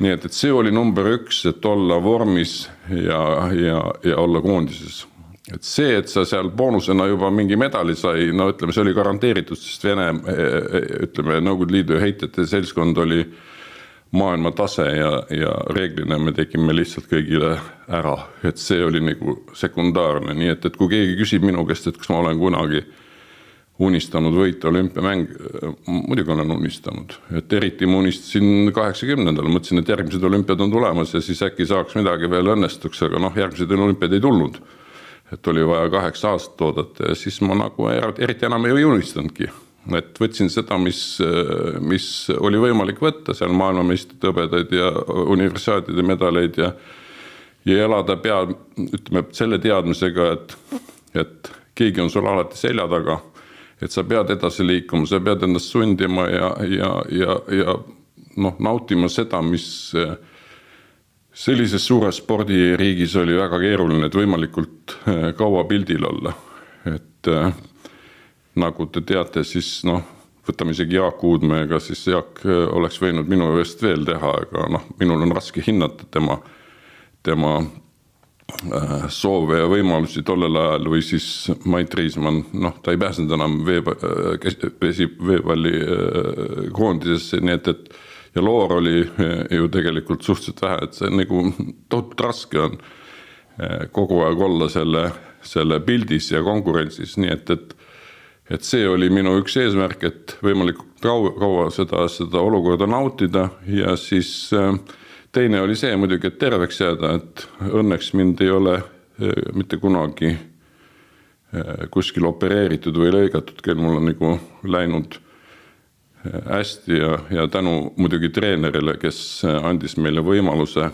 [SPEAKER 2] Nii et see oli number 1, et olla vormis ja olla koondises. Et see, et sa seal boonusena juba mingi medali sai, ütleme, see oli garanteeritud, sest Vene, ütleme, Nõukogude Liidu heitjate seltskond oli maailma tase ja reeglina me tegime lihtsalt kõigile ära, et see oli nagu sekundaarne, nii et kui keegi küsib minu käest, et kas ma olen kunagi unistanud võita olümpiamäng, muidugi olen unistanud, et eriti ma unistasin 80-ndal, mõtlesin, et järgmised olümpiad on tulemas ja siis äkki saaks midagi veel õnnestuks, aga järgmised olümpiad ei tulnud, et oli vaja 8 aastat oodata ja siis ma nagu eriti enam ei unistanudki. Et võtsin seda, mis oli võimalik võtta, seal maailmameistrid hõbedaid ja universiaatide medaleid ja elada ütleme, selle teadmisega, et keegi on sul alati selja taga, et sa pead edasi liikuma, sa pead endast sundima ja nautima seda, mis sellises suures spordiriigis oli väga keeruline, et võimalikult kaua pildil olla, et nagu te teate, siis võtame isegi Jaak Uudmäega, siis Jaak oleks võinud minu eest veel teha, aga minul on raske hinnata tema soove ja võimalusi tollel ajal või siis Mait Riismann, ta ei pääsenud enam veevalli koondisesse, nii et ja Loor oli ju tegelikult suhteliselt vähe, et see nagu tohutult raske on kogu aeg olla selle pildis ja konkurentsis, nii et see oli minu üks eesmärk, et võimalikult kaua seda olukorda nautida ja siis teine oli see muidugi, et terveks jääda, et õnneks mind ei ole mitte kunagi kuskil opereeritud või lõigatud, kel mul on nagu läinud hästi ja tänu muidugi treenerile, kes andis meile võimaluse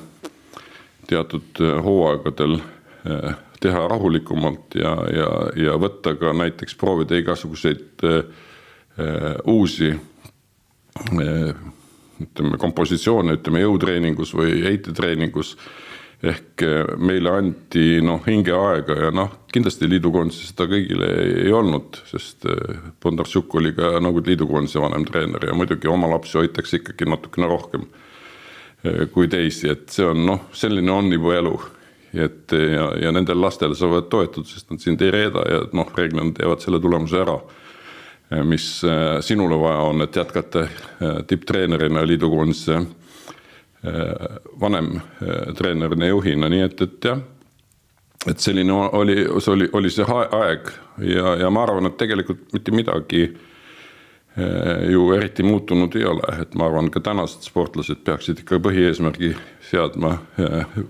[SPEAKER 2] teatud hooaegadel teha rahulikumalt ja võtta ka näiteks proovida igasuguseid uusi ütleme, kompositsioone, ütleme jõutreeningus või heitetreeningus ehk meile anti hingeaega ja kindlasti liidukoondise seda kõigile ei olnud, sest Bondarsuk oli ka Nõukogude liidukoondise vanem treener ja muidugi oma lapsi hoitakse ikkagi natukene rohkem kui teisi, et see on selline on juba elu. Ja nendel lastele sa võid toetud, sest nad sind ei reeda ja reeglina teevad selle tulemuse ära, mis sinule vaja on, et jätkata tipptreenerina liidukoondise vanem treenerina juhina, nii et jah. et selline oli see aeg ja ma arvan, et tegelikult mitte midagi ju eriti muutunud ei ole, et ma arvan, ka tänased sportlased peaksid ikka põhieesmärgi seadma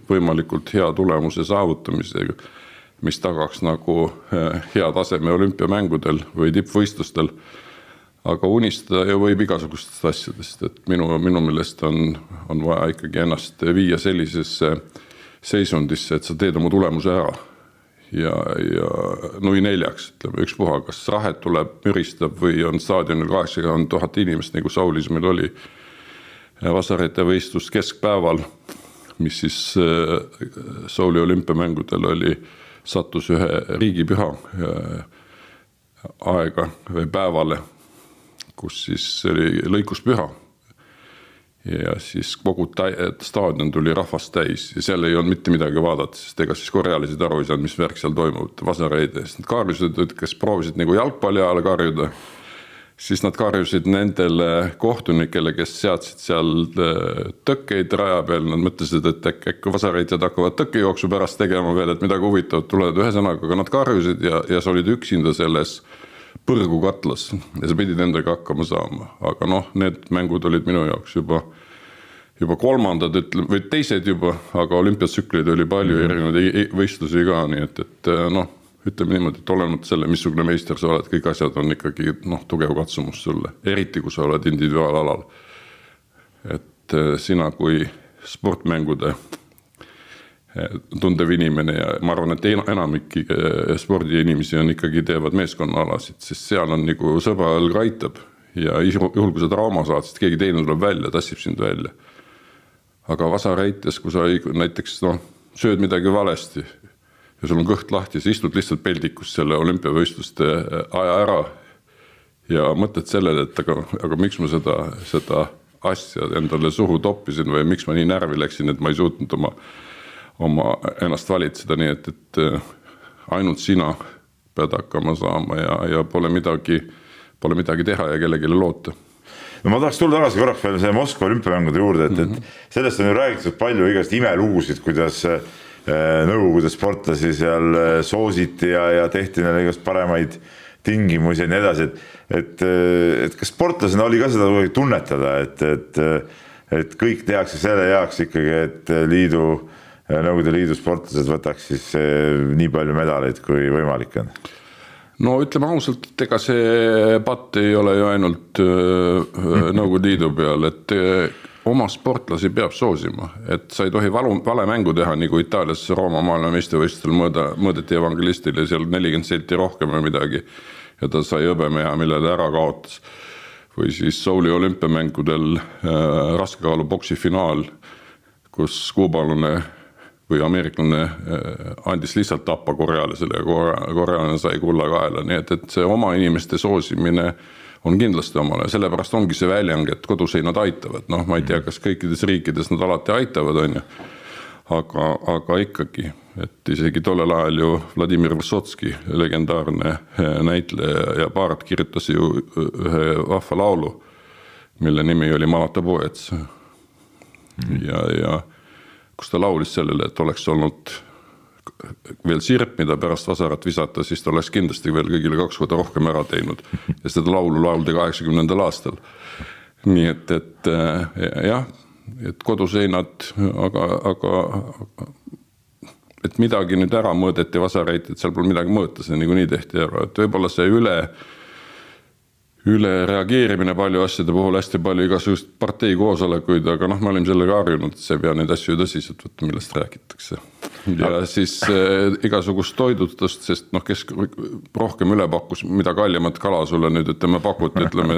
[SPEAKER 2] võimalikult hea tulemuse saavutamisega, mis tagaks nagu hea taseme olümpiamängudel või tippvõistlustel. Aga unistada ju võib igasugustest asjadest, et minu meelest on vaja ikkagi ennast viia sellisesse seisundisse, et sa teed oma tulemuse ära. Ja nui neljaks, ütleme, ükspuha, kas rahet tuleb, müristab või on staadionil 80 000 inimest, nagu Saulis meil oli Vasareite võistlus keskpäeval, mis siis Sauli olümpiamängudel sattus ühe riigipüha aega või päevale, kus siis oli lõikuspüha. Ja siis kogu staadion tuli rahvast täis ja seal ei olnud mitte midagi vaadata, sest ega siis korealised aru ei saanud, mis värk seal toimub Vasareide. Nad karjusid, kes proovisid nagu jalgpalli ajal karjuda, siis nad karjusid nendele kohtunikele, kes seadsid seal tõkkeid raja peal. Nad mõtlesid, et äkki Vasareidjad hakkavad tõkkejooksu pärast tegema veel, et midagi huvitavat tulevad ühe sõnaga, aga nad karjusid ja sa olid üksinda selles põrgu katlas ja sa pidid endaga hakkama saama. Aga need mängud olid minu jaoks juba kolmandad, või teised juba, aga olümpiatsüklid oli palju erinevaid võistlusi ka, nii et ütleme niimoodi, et olemata selle, missugune meister sa oled, kõik asjad on ikkagi tugev katsumus sulle, eriti kui sa oled individuaalalal. Et sina kui sportmängude tundev inimene ja ma arvan, et enamik spordiinimesi on ikkagi teevad meeskonnaalasid, sest seal on nagu sõbraõlg aitab ja juhul, kui sa trauma saad, sest keegi teine tuleb välja, tassib sind välja. Aga Vasareites, kui sa näiteks sööd midagi valesti ja sul on kõht lahti, sa istud lihtsalt peldikus selle olümpiavõistluste aja ära ja mõtled sellele, et aga miks ma seda asja endale suhu toppisin või miks ma nii närvi läksin, et ma ei suutnud oma ennast valitseda, nii et ainult sina pead hakkama saama ja pole midagi teha ja kellelegi loota.
[SPEAKER 1] No ma tahaks tulla tagasi korraks veel see Moskva olümpiamängude juurde, et sellest on ju räägitud palju igast imelugusid, kuidas nõukogude sportlasi seal soositi ja tehti neile igast paremaid tingimusi ja nii edasi, et kas sportlasena oli ka seda tunnetada, et kõik tehakse selle jaoks ikkagi, et Nõukogude Liidu sportlased võtaks siis nii palju medaleid kui võimalik on?
[SPEAKER 2] No ütleme ausalt, et ega see patt ei ole ju ainult Nõukogude Liidu peal, et oma sportlasi peab soosima, et sa ei tohi vale mängu teha, nagu Itaalias Rooma maailmameistrivõistlustel mõõdeti evangelistile seal 40 senti rohkem või midagi ja ta sai hõbemeha, millele ära kaotas. Või siis Sauli olümpiamängudel raskekaalu boksi finaal, kus kuubalane või ameeriklane andis lihtsalt tappa korealisele ja korealane sai kulla kaela, nii et see oma inimeste soosimine on kindlasti omale, sellepärast ongi see väljang, et koduseinad aitavad, ma ei tea, kas kõikides riikides nad alati aitavad, on ju, aga ikkagi, et isegi tollel ajal ju Vladimir Vysotski, legendaarne näitleja ja Bart kirjutas ju ühe vahva laulu, mille nimi oli Malata poets ja kus ta laulis sellele, et oleks olnud veel sirp, mida pärast Vasarat visata, siis ta oleks kindlasti veel kõigile 2 korda rohkem ära teinud. Ja seda laulu lauldi 80. aastal. Nii et jah, et koduseinad, aga et midagi nüüd ära mõõdeti Vasareid, et seal pole midagi mõõta, see nii tehti ära. Et võibolla see üle reageerimine palju asjade puhul, hästi palju igasugust partei koosolekuid, aga me olime sellega harjunud, et see ei pea neid asju tõsiselt võtta, millest räägitakse. Ja siis igasugust toidutust, sest kes rohkem üle pakkus, mida kallimat kala sulle nüüd, ütleme pakuti, ütleme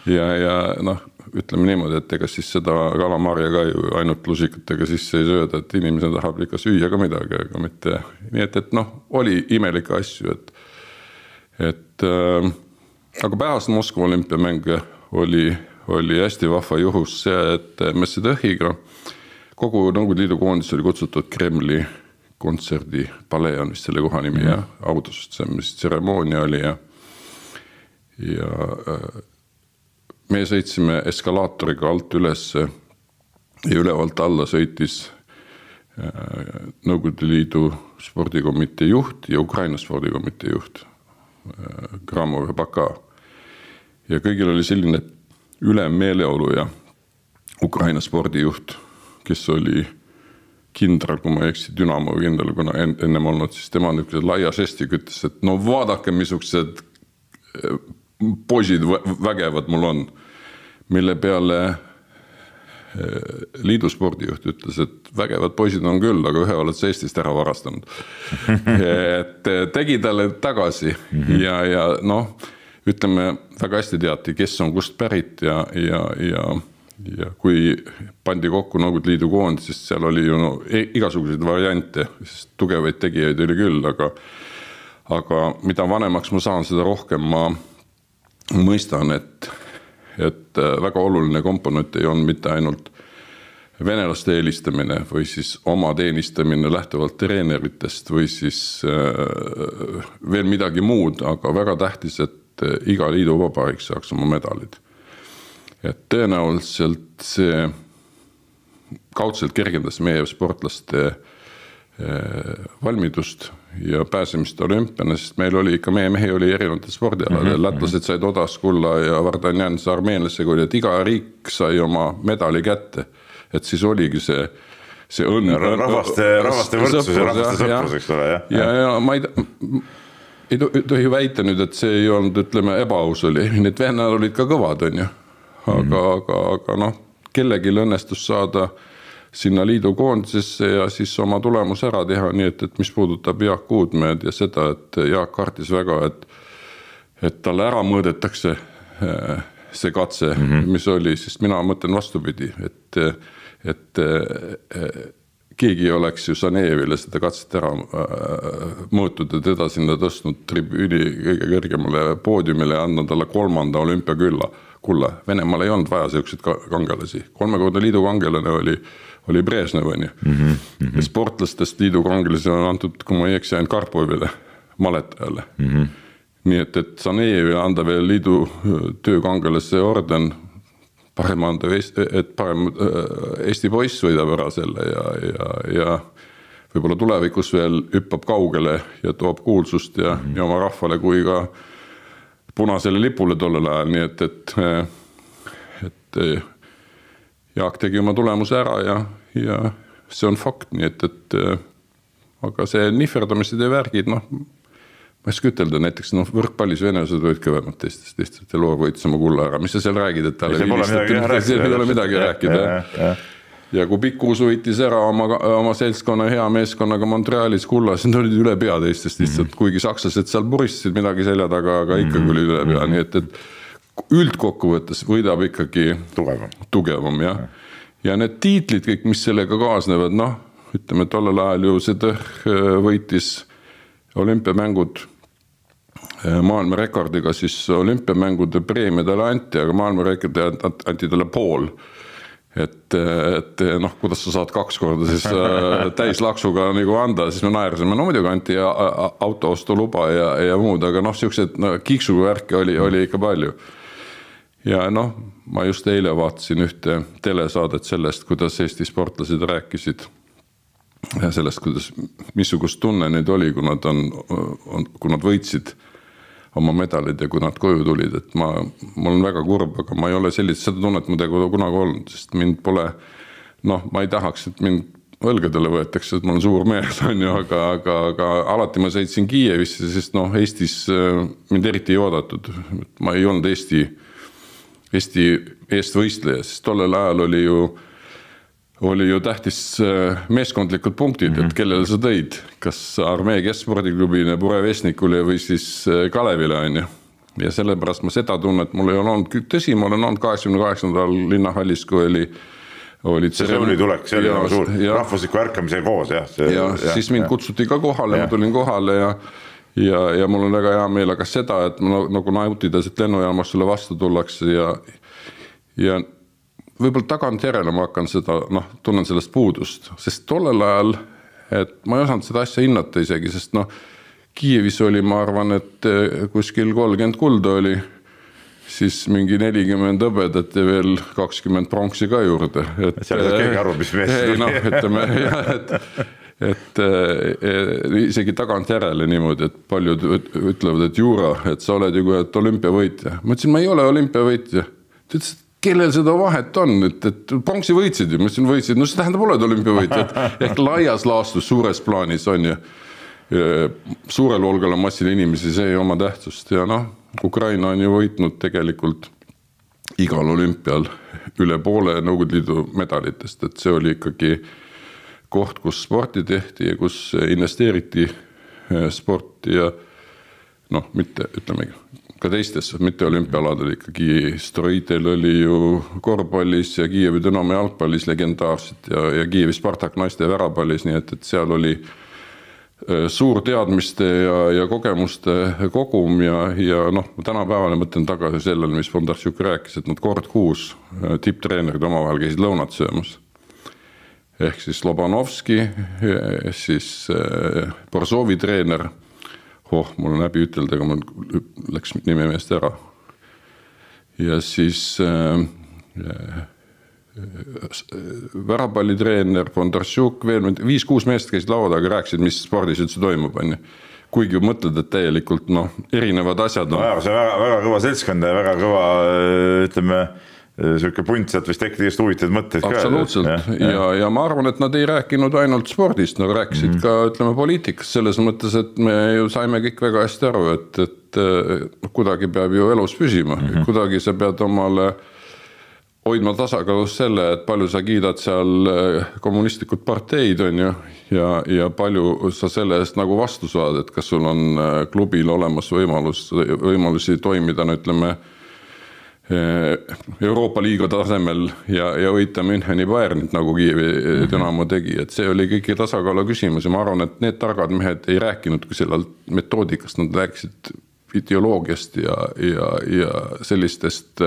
[SPEAKER 2] ütleme niimoodi, et ega siis seda kalamarja ka ju ainult lusikatega sisse ei sööda, et inimesed tahab ikka süüa ka midagi, aga mitte. Nii et oli imelikke asju, aga pärast Moskva olümpiamänge oli hästi vahva juhus see, et Messedõhiga kogu Nõukogude Liidu koondis oli kutsutud Kremli kontserdi palee on vist selle koha nimi ja autosüsteemis tseremoonia oli ja me sõitsime eskalaatoriga alt üles ja ülevalt alla sõitis Nõukogude Liidu spordikomitee juht ja Ukraina spordikomitee juht Kramov ja Baka. Ja kõigil oli selline ülemmeeleolu ja Ukraina spordijuht, kes oli kindral, kui ma eksi, Dünamo kindral, kuna ennem olnud, siis tema niisugused laia žestiga ütles, et no vaadake, missugused poisid vägevad mul on, mille peale liidu spordijuht ütles, et vägevad poisid on küll, aga ühe oled sa Eestist ära varastanud. Et tegi talle tagasi ja noh, ütleme, väga hästi teati, kes on kust pärit ja kui pandi kokku Nõukogude Liidu koond, siis seal oli ju igasuguseid variante, sest tugevaid tegijaid oli küll, aga mida vanemaks ma saan, seda rohkem ma mõistan, et väga oluline komponent ei olnud mitte ainult venelaste eelistamine või siis oma teenistamine lähtuvalt treeneritest või siis veel midagi muud, aga väga tähtis, et iga liidu vabariik saaks oma medalid. Et tõenäoliselt see kaudselt kergendas meie sportlaste valmidust ja pääsemist olümpiana, sest meil oli ikka, meie mehi oli erinevatel spordialadel, lätlased said Odaskulla ja Vardanjan armeenlasega oli, et iga riik sai oma medali kätte, et siis oligi see õnn.
[SPEAKER 1] Rahvaste võrdsus ja rahvaste sõprus, eks ole, jah.
[SPEAKER 2] Ja ma ei tohi väita nüüd, et see ei olnud, ütleme, ebaaus oli, need venel olid ka kõvad, on ju, aga noh, kellegi õnnestus saada sinna liidu koondisesse ja siis oma tulemus ära teha, nii et mis puudutab Jaak Uudmäed ja seda, et Jaak kartis väga, et talle ära mõõdetakse see katse, mis oli, sest mina mõtlen vastupidi, et keegi oleks ju Sanejevile seda katset ära mõõtud ja teda sinna tõstnud tribüüni kõige kõrgemale poodiumile ja andnud talle 3. olümpiakulla. Venemaal ei olnud vaja selliseid kangelasi. 3-kordne liidu kangelane oli Brežnev, ja sportlastest liidu kangelasi on antud, kui ma ei eksi, ainult Karpovile, maletajale. Nii et Sanejevile anda veel liidu töökangelase orden, parem Eesti poiss võidab ära selle ja võib-olla tulevikus veel hüppab kaugele ja toob kuulsust ja oma rahvale kui ka punasele lipule tollel ajal, nii et Jaak tegi oma tulemuse ära ja see on fakt, nii et aga see nihverdamised ja värgid, noh, ma ei saa ütelda, näiteks võrkpallis venelased võid kõvemad teistest, lihtsalt Elor võitis oma kulla ära, mis sa seal räägid, et talle ei ole midagi rääkida. Ja kui Pikkuus võitis ära oma seltskonna hea meeskonnaga Montrealis kulla, siis nad olid üle pea teistest lihtsalt, kuigi sakslased seal puristasid midagi selja taga, aga ikkagi oli üle pea, nii et üldkokkuvõttes võidab ikkagi tugevam, jah. Ja need tiitlid kõik, mis sellega kaasnevad, noh, ütleme, tollel ajal ju see võitis olümpiamängud maailmarekordiga, siis olümpiamängude preemia talle anti, aga maailmarekordi anti talle pool. Et noh, kuidas sa saad 2 korda siis täislaksuga nagu anda, siis me naersime, no muidugi anti autoostuluba ja muud, aga noh, siuksed kiiksuga värke oli ikka palju. Ja noh, ma just eile vaatasin ühte telesaadet sellest, kuidas Eesti sportlased rääkisid ja sellest, kuidas, missugust tunne neid oli, kui nad võitsid oma medalid ja kui nad koju tulid, et mul on väga kurb, aga ma ei ole seda tunnet muidugi kunagi olnud, sest mind pole, noh, ma ei tahaks, et mind õlgadele võetakse, et ma olen suur mees, on ju, aga alati ma sõitsin Kiievisse, sest noh, Eestis mind eriti ei oodatud, ma ei olnud Eesti eestvõistleja, sest tollel ajal oli ju tähtis meeskondlikud punktid, et kellele sa tõid, kas Armee keskspordiklubi Burevestnikule või siis Kalevile, on ju. Ja sellepärast ma seda tunnet, mul ei olnud, tõsi, ma olen olnud 88. linnahallis, kui oli
[SPEAKER 1] tseremooniatulek, see oli nagu suur rahvusliku ärkamise koos, jah.
[SPEAKER 2] Ja siis mind kutsuti ka kohale, ma tulin kohale ja mul on väga hea meel, aga seda, et nagu nautides, et lennujaamas sulle vastu tullakse ja võib-olla tagantjärele ma hakkan seda, noh, tunnen sellest puudust, sest tollel ajal, et ma ei osanud seda asja hinnata isegi, sest noh, Kiievis oli, ma arvan, et kuskil 30 kulda oli
[SPEAKER 3] siis mingi 40 hõbedat ja veel 20 pronksi ka juurde.
[SPEAKER 1] Seal ei saa keegi aru, mis mees
[SPEAKER 3] tuli. No, ütleme, jah, et isegi tagant järele niimoodi, et paljud ütlevad, et Juura, et sa oled ju olümpiavõitja. Ma ütlesin, ma ei ole olümpiavõitja. Ta ütles, kellel seda vahet on, et pronksi võitsid ju, ma ütlesin võitsid, no see tähendab oled olümpiavõitja, ehk laias laastus suures plaanis on ju suurel hulgal massil inimesi, see ei oma tähtsust ja noh, Ukraina on ju võitnud tegelikult igal olümpial üle poole Nõukogude Liidu medalitest, et see oli ikkagi koht, kus sporti tehti ja kus investeeriti sporti ja noh, mitte, ütleme ka teistes, mitte olümpialadel ikkagi Stroidel oli ju korvpallis ja Kiievi Dünamo jalgpallis legendaarselt ja Kiievi Spartak naiste värapallis, nii et seal oli suur teadmiste ja kogemuste kogum ja noh, tänapäevale mõtlen tagasi sellele, mis Bondarchuk rääkis, et nad kord kuus tipptreenerid omavahel käisid lõunat söömas. Ehk siis Lobanovski, siis Borzovi treener, mul on häbi ütelda, aga mul läks nime meest ära. Ja siis värapallitreener, Bondarchuk, veel 5-6 meest käisid laua taga, rääkisid, mis spordis üldse toimub. Kuigi mõtled, et täielikult erinevad asjad on.
[SPEAKER 1] See on väga kõva seltskond ja väga kõva, ütleme, selline punt sealt vist tekkida just huvitatud mõtteid ka.
[SPEAKER 3] Absoluutselt. Ja ma arvan, et nad ei rääkinud ainult spordist, nad rääkisid ka, ütleme, poliitikast selles mõttes, et me ju saime kõik väga hästi aru, et kuidagi peab ju elus püsima. Kuidagi sa pead omale hoidma tasakaalus selle, et palju sa kiidad seal kommunistlikud parteid on ju ja palju sa selle eest nagu vastu saad, et kas sul on klubil olemas võimalusi toimida, no ütleme, Euroopa liiga tasemel ja võita Müncheni Bayernit nagu Kiievi Dünamo tegi, et see oli kõiki tasakaalu küsimus ja ma arvan, et need targad mehed ei rääkinudki sellelt metoodikast, nad rääkisid ideoloogiast ja sellistest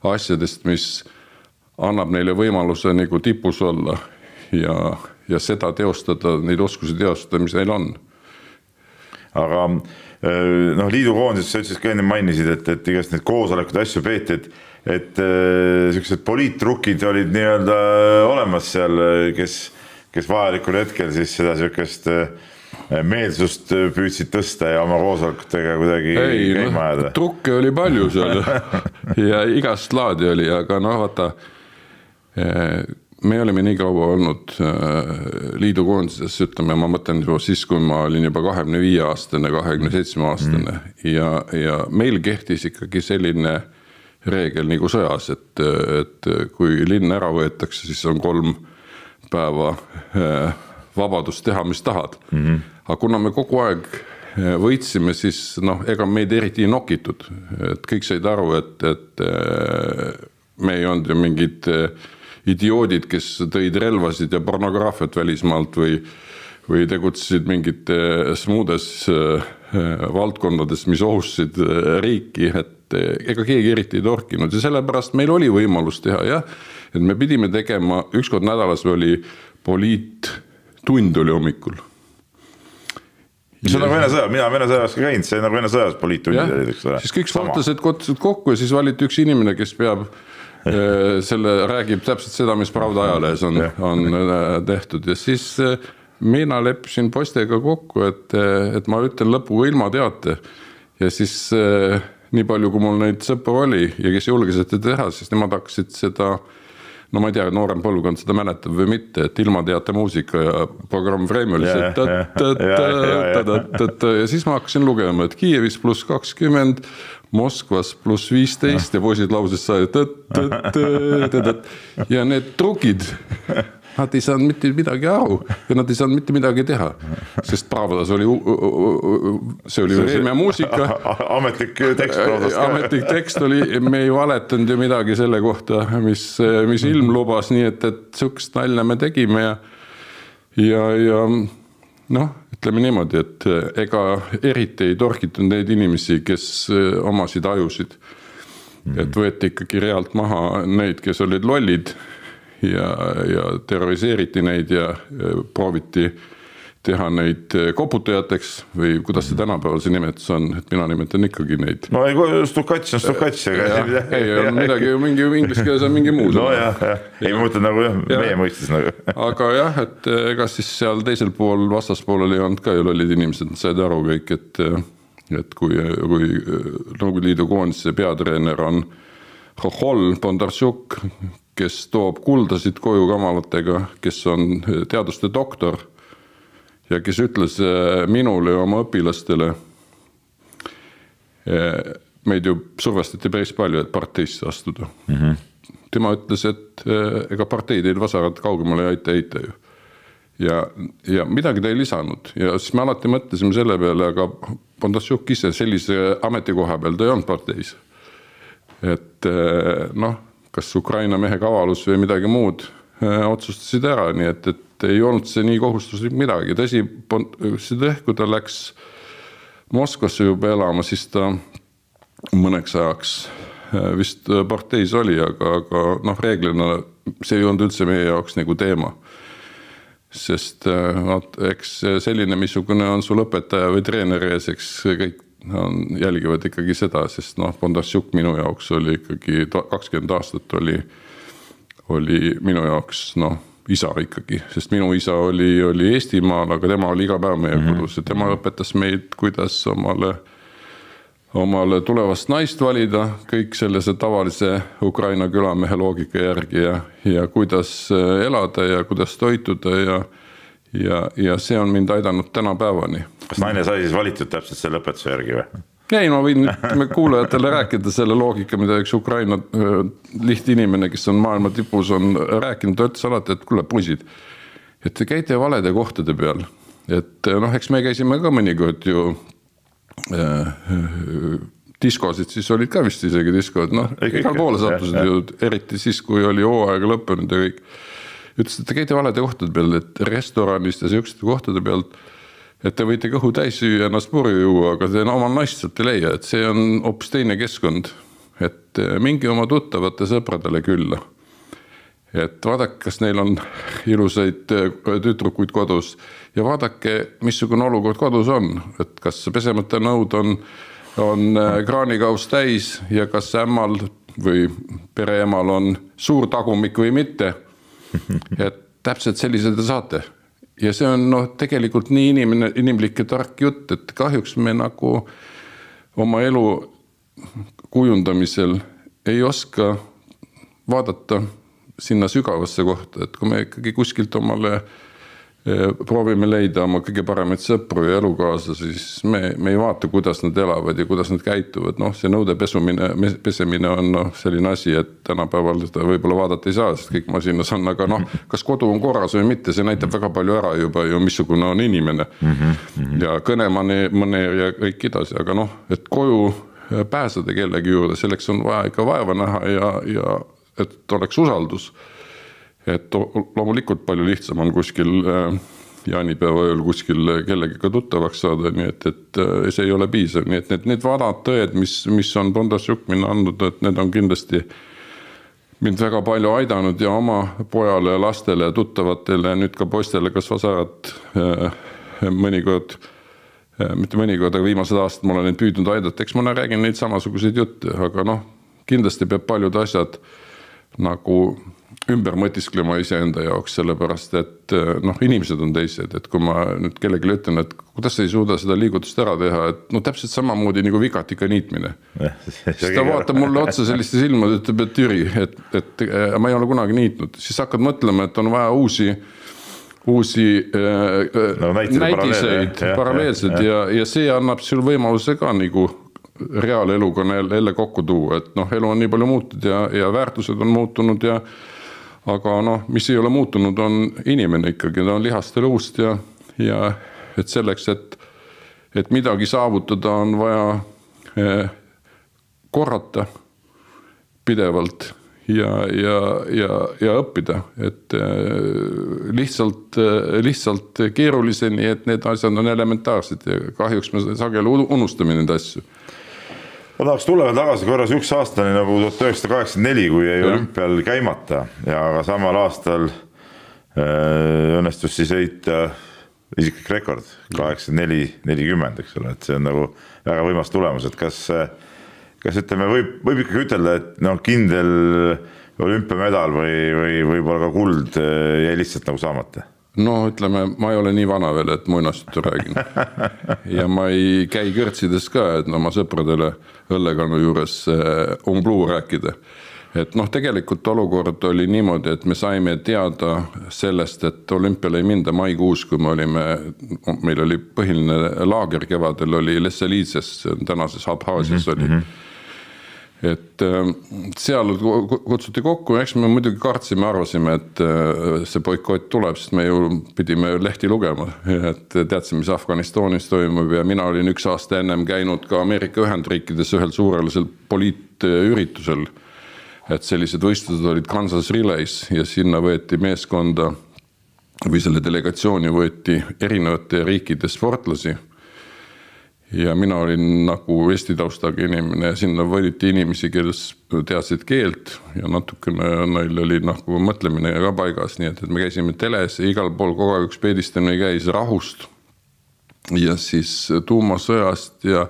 [SPEAKER 3] asjadest, mis annab neile võimaluse nagu tipus olla ja seda teostada, neid oskusi teostada, mis neil on.
[SPEAKER 1] Aga liidukoondis, sa ütlesid ka enne mainisid, et igast need koosolekud asju peeti, et sellised poliitrukid olid nii-öelda olemas seal, kes vajalikul hetkel siis seda sellist meelsust püüdsid tõsta ja oma koosolekutega kuidagi käima ajada.
[SPEAKER 3] Trukke oli palju seal ja igast laadi oli, aga vaata, me olime nii kaua olnud liidukoondises, ütleme, ma mõtlen siis, kui ma olin juba 25-aastane, 27-aastane ja meil kehtis ikkagi selline reegel nagu sõjas, et kui linn ära võetakse, siis on 3 päeva vabadust teha, mis tahad. Aga kuna me kogu aeg võitsime, siis ega meid eriti nokitud, et kõik said aru, et me ei olnud ju mingid idioodid, kes tõid relvasid ja pornograafiat välismaalt või tegutsesid mingites muudes valdkondades, mis ohustasid riiki, et ega keegi eriti ei torkinud ja sellepärast meil oli võimalus teha, jah, et me pidime tegema, ükskord nädalas oli poliittund oli hommikul.
[SPEAKER 1] See on nagu Vene sõjas, mina Vene sõjas ka käinud, see on nagu Vene sõjas poliittundid olid, eks ole.
[SPEAKER 3] Siis kõik sportlased kottisid kokku ja siis valiti üks inimene, kes peab selle räägib täpselt seda, mis Pravda ajalehes on tehtud ja siis mina leppisin postega kokku, et ma ütlen lõpuga ilma teate ja siis nii palju, kui mul neid sõpru oli ja kes julges seda teha, siis nemad hakkasid seda, no ma ei tea, noorem põlvkond seda mäletab või mitte, et ilma teate muusika ja programm Frame oli see ja siis ma hakkasin lugema, et Kiievis +20, Moskvas +15 ja poisid lauses sai ja need trukid, nad ei saanud mitte midagi aru ja nad ei saanud mitte midagi teha, sest Pravdas oli, see oli Vremja muusika.
[SPEAKER 1] Ametlik tekst Pravdas ka.
[SPEAKER 3] Ametlik tekst oli, me ei valetanud ju midagi selle kohta, mis ilm lubas, nii et sukst nalja me tegime ja ütleme niimoodi, et ega eriti ei torkitud neid inimesi, kes omasid ajusid. Et võeti ikkagi realt maha neid, kes olid lollid ja terroriseeriti neid ja prooviti teha neid koputajateks või kuidas see tänapäeval see nimetus on, et mina nimetan ikkagi neid.
[SPEAKER 1] No ei, stukats on stukats.
[SPEAKER 3] Ei, midagi, mingi inglise keeles on mingi muu.
[SPEAKER 1] No jah, ei ma mõtlen nagu meie mõistes nagu.
[SPEAKER 3] Aga jah, et ega siis seal teisel pool, vastaspoolel ei olnud ka ju lollid inimesed, nad said aru kõik, et kui Nõukogude Liidu koondise peatreener on Hohol Bondarchuk, kes toob kuldasid koju kamalatega, kes on teaduste doktor, ja kes ütles minule ja oma õpilastele, meid ju survestati päris palju, et parteisse astuda. Tema ütles, et ega parteid ei vasarat kaugemale ei aita ju. Ja midagi ta ei lisanud. Ja siis me alati mõtlesime selle peale, aga Bondarchuk ise sellise ametikoha peal ta ei olnud parteis. Et noh, kas Ukraina mehe kavalus või midagi muud otsustasid ära, nii et ei olnud see nii kohustuslik midagi. Tõsi, kui ta läks Moskvasse juba elama, siis ta mõneks ajaks vist parteis oli, aga noh, reeglina see ei olnud üldse meie jaoks nagu teema. Sest eks selline, missugune on sul õpetaja või treener ees, eks kõik jälgivad ikkagi seda, sest noh, Bondarchuk minu jaoks oli ikkagi 20 aastat oli minu jaoks noh, isa ikkagi, sest minu isa oli Eestimaal, aga tema oli iga päev meie kodus ja tema õpetas meid, kuidas omale tulevast naist valida, kõik sellise tavalise Ukraina külamehe loogika järgi ja kuidas elada ja kuidas toituda ja see on mind aidanud tänapäevani.
[SPEAKER 1] Kas naine sai siis valitud täpselt selle õpetuse järgi või?
[SPEAKER 3] Ei, ma võin kuulajatele rääkida selle loogika, mida üks Ukraina lihtinimene, kes on maailma tipus, on rääkinud, ta ütles alati, et kuule poisid, et te käite valede kohtade peal. Et noh, eks me käisime ka mõnikord ju diskosid, siis olid ka vist isegi diskod, noh, igal poole sattusid ju, eriti siis, kui oli hooaega lõppenud ja kõik. Ütles, et te käite valede kohtade peal, et restoranist ja sellised kohtade pealt, et te võite kõhu täis süüa ennast purju juua, aga te omal naist sealt ei leia, et see on hoopis teine keskkond, et mingi oma tuttavate sõpradele külla. Et vaadake, kas neil on ilusaid tütrukuid kodus ja vaadake, missugune olukord kodus on, et kas pesemata nõud on kraanikaus täis ja kas ämmal või pereemal on suur tagumik või mitte, et täpselt sellised te saate. Ja see on noh, tegelikult nii inimlik ja tark jutt, et kahjuks me nagu oma elu kujundamisel ei oska vaadata sinna sügavasse kohta, et kui me ikkagi kuskilt omale proovime leida oma kõige paremaid sõpru ja elukaasa, siis me ei vaata, kuidas nad elavad ja kuidas nad käituvad. Noh, see nõude pesemine on selline asi, et tänapäeval seda võib-olla vaadata ei saa, sest kõik masinas on, aga noh, kas kodu on korras või mitte, see näitab väga palju ära juba ju, missugune on inimene ja kõnemaneer ja kõik edasi, aga noh, et koju pääseda kellegi juurde, selleks on vaja ikka vaeva näha ja et oleks usaldus. Et loomulikult palju lihtsam on kuskil jaanipäeva ööl kuskil kellegiga tuttavaks saada, nii et see ei ole piisav. Nii et need vanad tõed, mis on Bondarchuk minna andnud, et need on kindlasti mind väga palju aidanud ja oma pojale ja lastele ja tuttavatele ja nüüd ka poistele, kas vasarat mõnikord, mitte mõnikord, aga viimased aastad ma olen neid püüdnud aidata. Eks ma räägin neid samasuguseid jutte, aga noh, kindlasti peab paljud asjad nagu ümber mõtisklema iseenda jaoks, sellepärast, et noh, inimesed on teised, et kui ma nüüd kellegi ütlen, et kuidas ei suuda seda liigutust ära teha, et no täpselt samamoodi nagu vigatika niitmine. Siis ta vaatab mulle otsa selliste silmad, ütleb, et Jüri, et ma ei ole kunagi niitnud. Siis hakkad mõtlema, et on vaja uusi näitiseid, paralleelseid ja see annab sul võimaluse ka nagu reaaleluga jälle kokku tuua, et noh, elu on nii palju muutud ja väärtused on muutunud aga noh, mis ei ole muutunud, on inimene ikkagi, ta on lihast ja luust ja et selleks, et midagi saavutada, on vaja korrata pidevalt ja õppida, et lihtsalt keeruliseni, et need asjad on elementaarsed ja kahjuks me sageli unustame neid asju.
[SPEAKER 1] Ma tahaks tulla tagasi korras üks aastani nagu 1984, kui jäi olümpial käimata ja aga samal aastal õnnestus siis heita isiklik rekord, 84-40, eks ole, et see on nagu väga võimas tulemus, et kas ütleme, võib ikkagi ütelda, et no kindel olümpiamedal või võib-olla ka kuld jäi lihtsalt nagu saamata?
[SPEAKER 2] No ütleme, ma ei ole nii vana veel, et muinasjutu räägin. Ja ma ei käi kõrtsides ka, et oma sõpradele õllekannu juures umbluu rääkida. Et noh, tegelikult olukord oli niimoodi, et me saime teada sellest, et olümpiale ei minda maikuus, kui meil oli põhiline laager kevadel, oli Lesseliitses, tänases Abhaasias oli. Et seal kutsuti kokku, eks me muidugi kartsime, arvasime, et see boikott tuleb, sest me ju pidime lehti lugema, et teadsime, mis Afganistanis toimub ja mina olin 1 aasta ennem käinud ka Ameerika Ühendriikides ühel suurelisel poliitüritusel, et sellised võistlused olid Kansas Relays ja sinna võeti meeskonda või selle delegatsiooni võeti erinevate riikide sportlasi. Ja mina olin nagu Eesti taustaga inimene ja sinna võliti inimesi, kes teadsid keelt ja natukene neil oli nagu mõtlemine ka paigas, nii et me käisime teles ja igal pool kogu aeg üks peedistamine käis rahust ja siis tuumasõjast ja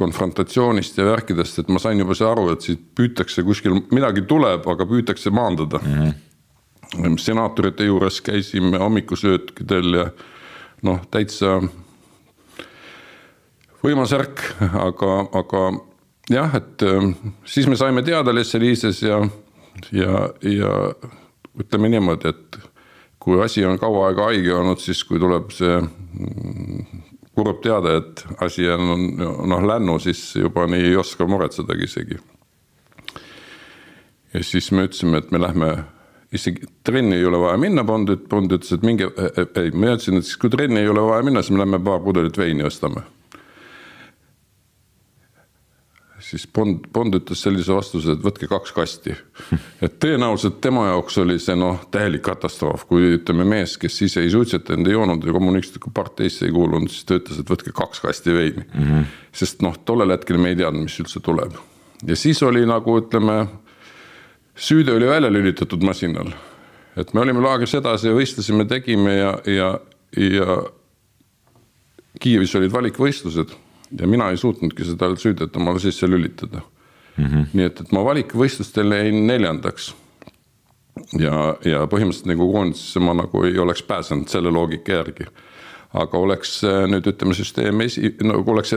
[SPEAKER 2] konfrontatsioonist ja värkidest, et ma sain juba see aru, et siit püütakse kuskil, midagi tuleb, aga püütakse maandada. Senaatorite juures käisime hommikusöötkidel ja noh, täitsa võimas ärk, aga jah, et siis me saime teada Lesseliises ja ütleme niimoodi, et kui asi on kaua aega haige olnud, siis kui tuleb see kurb teada, et asi on lännu, siis juba nii ei oska muretsedagi isegi. Ja siis me ütlesime, et me lähme, isegi trenni ei ole vaja minna, Bond ütles, et minge, ma ütlesin, et siis kui trenni ei ole vaja minna, siis me lähme paar pudelit veini ostame. Siis Bond ütles sellise vastuse, et võtke 2 kasti. Et tõenäoliselt tema jaoks oli see täielik katastroof, kui ütleme mees, kes ise ei suitsetanud, ei joonud ja kommunistliku parteisse ei kuulunud, siis ta ütles, et võtke 2 kasti veini. Sest tollel hetkel me ei teadnud, mis üldse tuleb. Ja siis oli nagu, ütleme, süüde oli välja lülitatud masinal. Et me olime laagris edasi ja võistlesime, tegime ja Kiievis olid valikvõistlused. Ja mina ei suutnudki seda süüdet omale sisse lülitada. Nii et ma valikvõistlustel jäin 4. Ja põhimõtteliselt nagu koondisesse ma nagu ei oleks pääsenud selle loogika järgi. Aga oleks nüüd ütleme süsteem, nagu oleks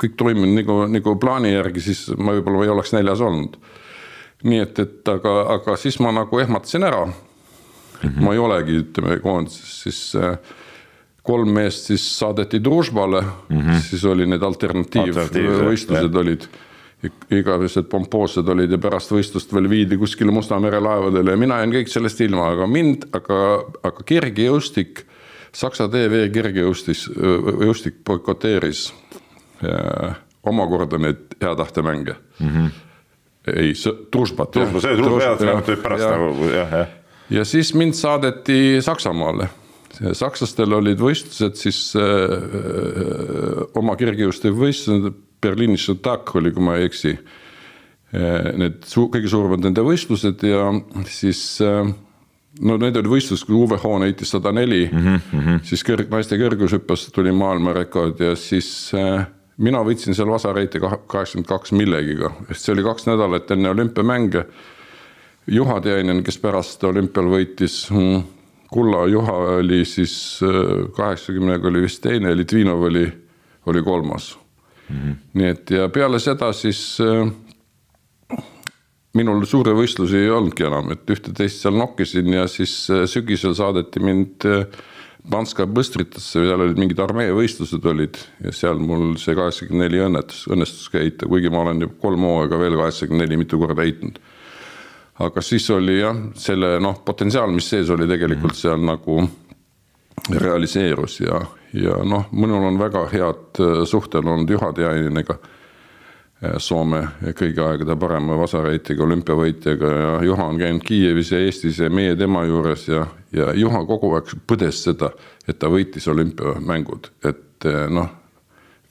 [SPEAKER 2] kõik toiminud nagu plaani järgi, siis ma võib-olla ei oleks 4. olnud. Nii et aga siis ma nagu ehmatasin ära. Ma ei olegi ütleme koondises, siis 3 meest siis saadeti Družbale, siis oli need alternatiivvõistlused olid, igavesed pompoosed olid ja pärast võistlust veel viidi kuskile Musta mere laevadele ja mina jäin kõik sellest ilma, aga kergejõustik, Saksa TV kergejõustik boikoteeris omakorda need hea tahte mänge. Ei, Družbat. Ja siis mind saadeti Saksamaale. Sakslastel olid võistlused siis oma kergejõustik võistlused, Berliinis Šutak oli, kui ma ei eksi, need kõige suuremad nende võistlused ja siis need oli võistlus, kui Uwe Hoone heitis 104, siis naiste kõrgushüppes tuli maailmarekord ja siis mina võitsin seal vasareiti 82 millegiga, sest see oli 2 nädalat enne olümpiamänge. Juha Tiainen, kes pärast olümpial võitis Kulla Juha oli siis 80 oli vist teine, Litvinov oli 3. Nii et ja peale seda siis minul suure võistlusi ei olnudki enam, et ühte teist seal nokkisin ja siis sügisel saadeti mind Banska Bëstritasse, seal olid mingid armee võistlused olid ja seal mul see 84 õnnestus heita, kuigi ma olen 3 hooaega veel 84 mitu korda heitnud. Aga siis oli jah, selle potentsiaal, mis sees oli tegelikult seal nagu realiseerus ja mõnul on väga head suhtel olnud Juha Tiainenega, Soome kõigi aegade parema vasareitiga, olümpiavõitjaga ja Juha on käinud Kiievis ja Eestis ja meie tema juures ja Juha kogu aeg põdes seda, et ta võitis olümpiamängud, et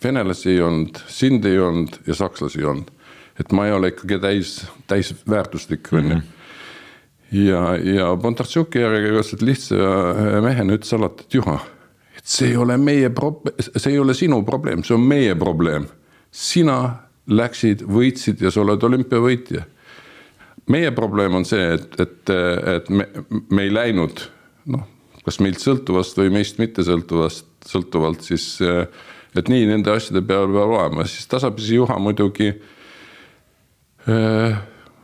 [SPEAKER 2] venelasi ei olnud, sind ei olnud ja sakslasi ei olnud. Et ma ei ole ikkagi täis väärtuslik. Ja Bondartšuki järgi lihtsa mehena ütles alati, et Juha, et
[SPEAKER 3] see ei ole sinu probleem, see on meie probleem. Sina läksid, võitsid ja sa oled olümpiavõitja. Meie probleem on see, et me ei läinud, kas meilt sõltuvast või meist mitte sõltuvalt, siis et nii nende asjade peal peab olema. Siis tasapisi Juha muidugi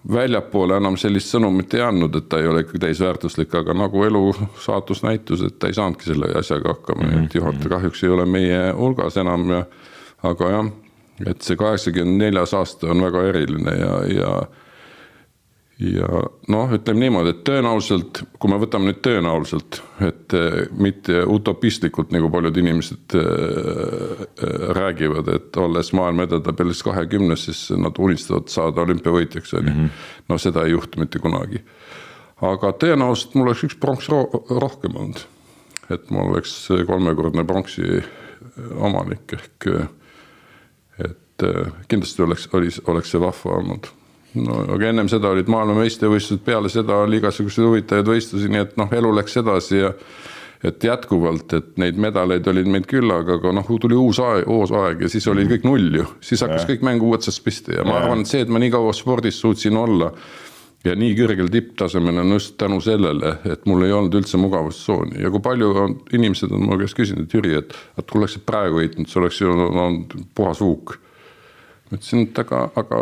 [SPEAKER 3] väljapoole enam sellist sõnumit ei andnud, et ta ei ole ikka täisväärtuslik, aga nagu elu saatus näitus, et ta ei saanudki selle asjaga hakkama. Et juhataja kahjuks ei ole meie hulgas enam, aga jah, et see 84 aasta on väga eriline ja ütleme niimoodi, et tõenäoliselt, kui me võtame nüüd tõenäoliselt, et mitte utopistlikult, nagu paljud inimesed räägivad, et olles maailma edetabelis 20, siis nad unistavad saada olümpiavõitjaks. No seda ei juhtu mitte kunagi. Aga tõenäoliselt mul oleks üks pronks rohkem olnud. Et mul oleks 3-kordne pronksi omanik ehk et kindlasti oleks see vahva olnud. No, aga ennem seda olid maailma meistrivõistlused, peale seda oli igasugused huvitajaid võistlusi, nii et elu läks edasi ja et jätkuvalt, et neid medaleid olid meid küllaga, aga tuli uus aeg ja siis oli kõik null ju. Siis hakkas kõik mängu uudsast piste ja ma arvan, et see, et ma nii kaua spordis suutsin olla ja nii kõrgel tipptasemel on just tänu sellele, et mul ei olnud üldse mugavustsooni. Ja kui palju inimesed on mu käest küsinud, et Jüri, et kui oleksid praegu võitnud, see oleks ju puhas huuk. Ma ütlesin, et aga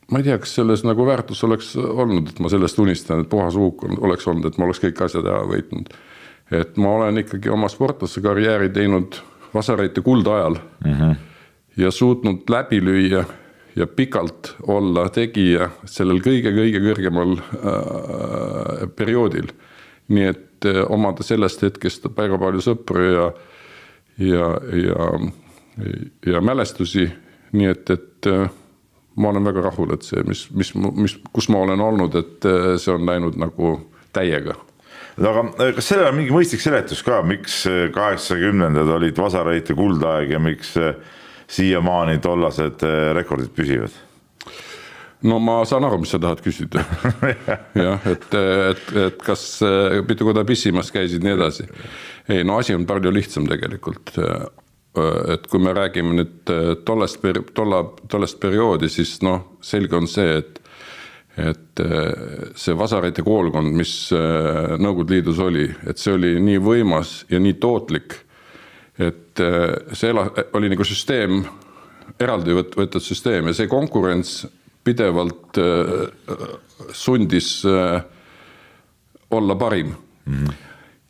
[SPEAKER 3] ma ei tea, kas selles nagu väärtus oleks olnud, et ma sellest unistan, et puhas huuk oleks olnud, et ma oleks kõik asjad ära võitnud. Et ma olen ikkagi oma sportlase karjääri teinud Vasareite kulda ajal ja suutnud läbi lüüa ja pikalt olla tegija sellel kõige kõrgemal perioodil. Nii et omada sellest hetkest väga palju sõpru ja mälestusi, nii et ma olen väga rahul, et see, kus ma olen olnud, et see on läinud nagu täiega.
[SPEAKER 1] Aga kas sellel on mingi mõistlik seletus ka, miks 80-ndad olid Vasareite kuldaeg ja miks siiamaani tollased rekordid püsivad?
[SPEAKER 3] No ma saan aru, mis sa tahad küsida. Jah, et kas mitu korda pissimas käisid nii edasi. Ei, asi on palju lihtsam tegelikult. Et kui me räägime nüüd tollest perioodi, siis selge on see, et see Vasareite koolkond, mis Nõukogude Liidus oli, et see oli nii võimas ja nii tootlik, et see oli nagu süsteem, eraldi võetud süsteem ja see konkurents pidevalt sundis olla parim.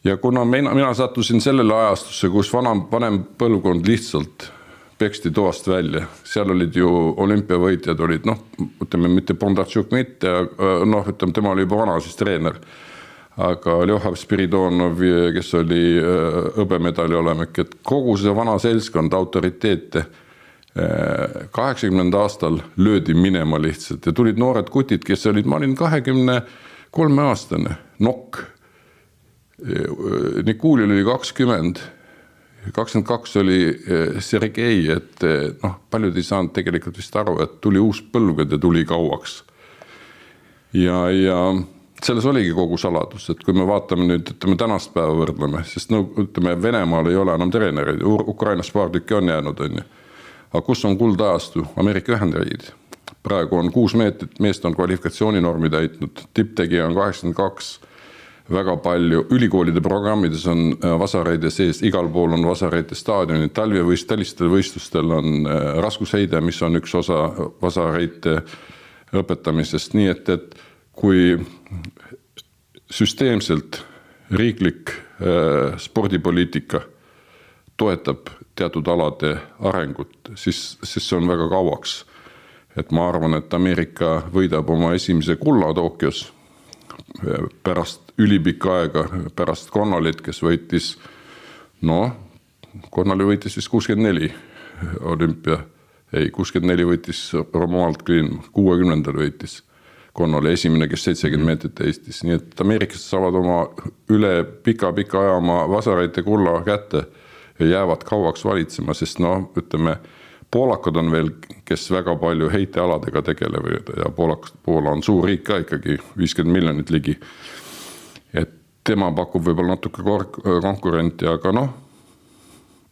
[SPEAKER 3] Ja kuna mina sattusin sellele ajastusse, kus vanem põlvkond lihtsalt peksti toast välja, seal olid ju olümpiavõitjad, olid ütleme mitte Bondarchuk mitte, ütleme tema oli juba vana siis treener, aga Ljohar Spiridonov, kes oli hõbemedali olemek, et kogu see vana seltskond autoriteete 80. aastal löödi minema lihtsalt ja tulid noored kutid, kes olid, ma olin 23 aastane, nokk. Nikulil oli 20, 22 oli Sergei, et paljud ei saanud tegelikult vist aru, et tuli uus põlvkond ja tuli kauaks. Ja selles oligi kogu saladus, et kui me vaatame nüüd, ütleme tänast päeva võrdleme, sest ütleme Venemaal ei ole enam treenereid, Ukrainas paar tükki on jäänud, aga kus on kuldajastu? Ameerika Ühendriigid. Praegu on 6 meest on kvalifikatsiooninormi täitnud, tipptegija on 82, väga palju ülikoolide programmides on Vasareide sees, igal pool on Vasareide staadionid, talvistel võistlustel on raskusheide, mis on üks osa Vasareide õpetamisest, nii et kui süsteemselt riiklik spordipoliitika toetab teatud alade arengut, siis see on väga kauaks. Et ma arvan, et Ameerika võidab oma esimese kulla Tokyos pärast ülipikka aega, pärast Connolit, kes võitis, Connolly võitis vist 64 olümpia, 64 võitis Romuald Green, 60. võitis Connolly, esimene, kes 70 meetrit Eestis, nii et Ameerikas saavad oma üle pika aja oma Vasareite kulla kätte ja jäävad kauaks valitsema, sest ütleme, poolakad on veel, kes väga palju heitealadega tegelevad ja Poola on suur riik ka ikkagi, 50 miljonit ligi. Et tema pakub võib-olla natuke konkurenti, aga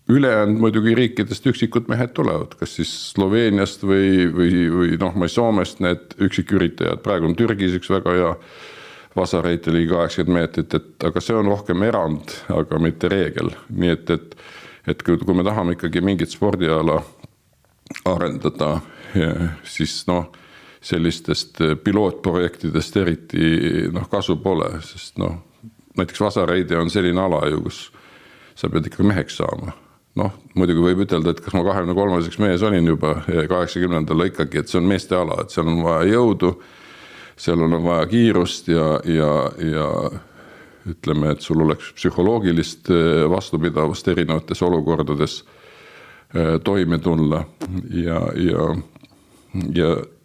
[SPEAKER 3] ülejäänud muidugi riikidest üksikud mehed tulevad, kas siis Sloveeniast või noh, ma Soomest need üksiküritajad, praegu on Türgis üks väga hea vasareite ligi 80 meetrit, aga see on rohkem erand, aga mitte reegel. Nii et kui me tahame ikkagi mingit spordiala arendada, siis noh, sellistest pilootprojektidest eriti kasu pole, sest näiteks vasareide on selline ala ju, kus sa pead ikka meheks saama. Muidugi võib ütelda, et kas ma 23-seks mees olin juba 80-ndal ikkagi, et see on meeste ala, et seal on vaja jõudu, seal on vaja kiirust ja ütleme, et sul oleks psühholoogilist vastupidavust erinevates olukordades toime tulla ja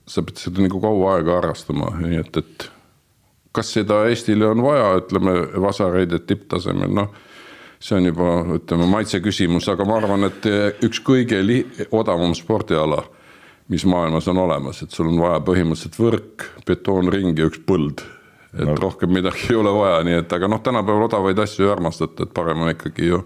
[SPEAKER 3] sa pead seda nagu kaua aega harrastama, nii et kas seda Eestile on vaja, ütleme, vasareidet tipptasemel, see on juba, ütleme, maitse küsimus, aga ma arvan, et üks kõige odavam spordiala, mis maailmas on olemas, et sul on vaja põhimõtteliselt võrk, betoonring ja üks põld, et rohkem midagi ei ole vaja, nii et aga tänapäeval odavaid asju ei armastata, et parem on ikkagi ju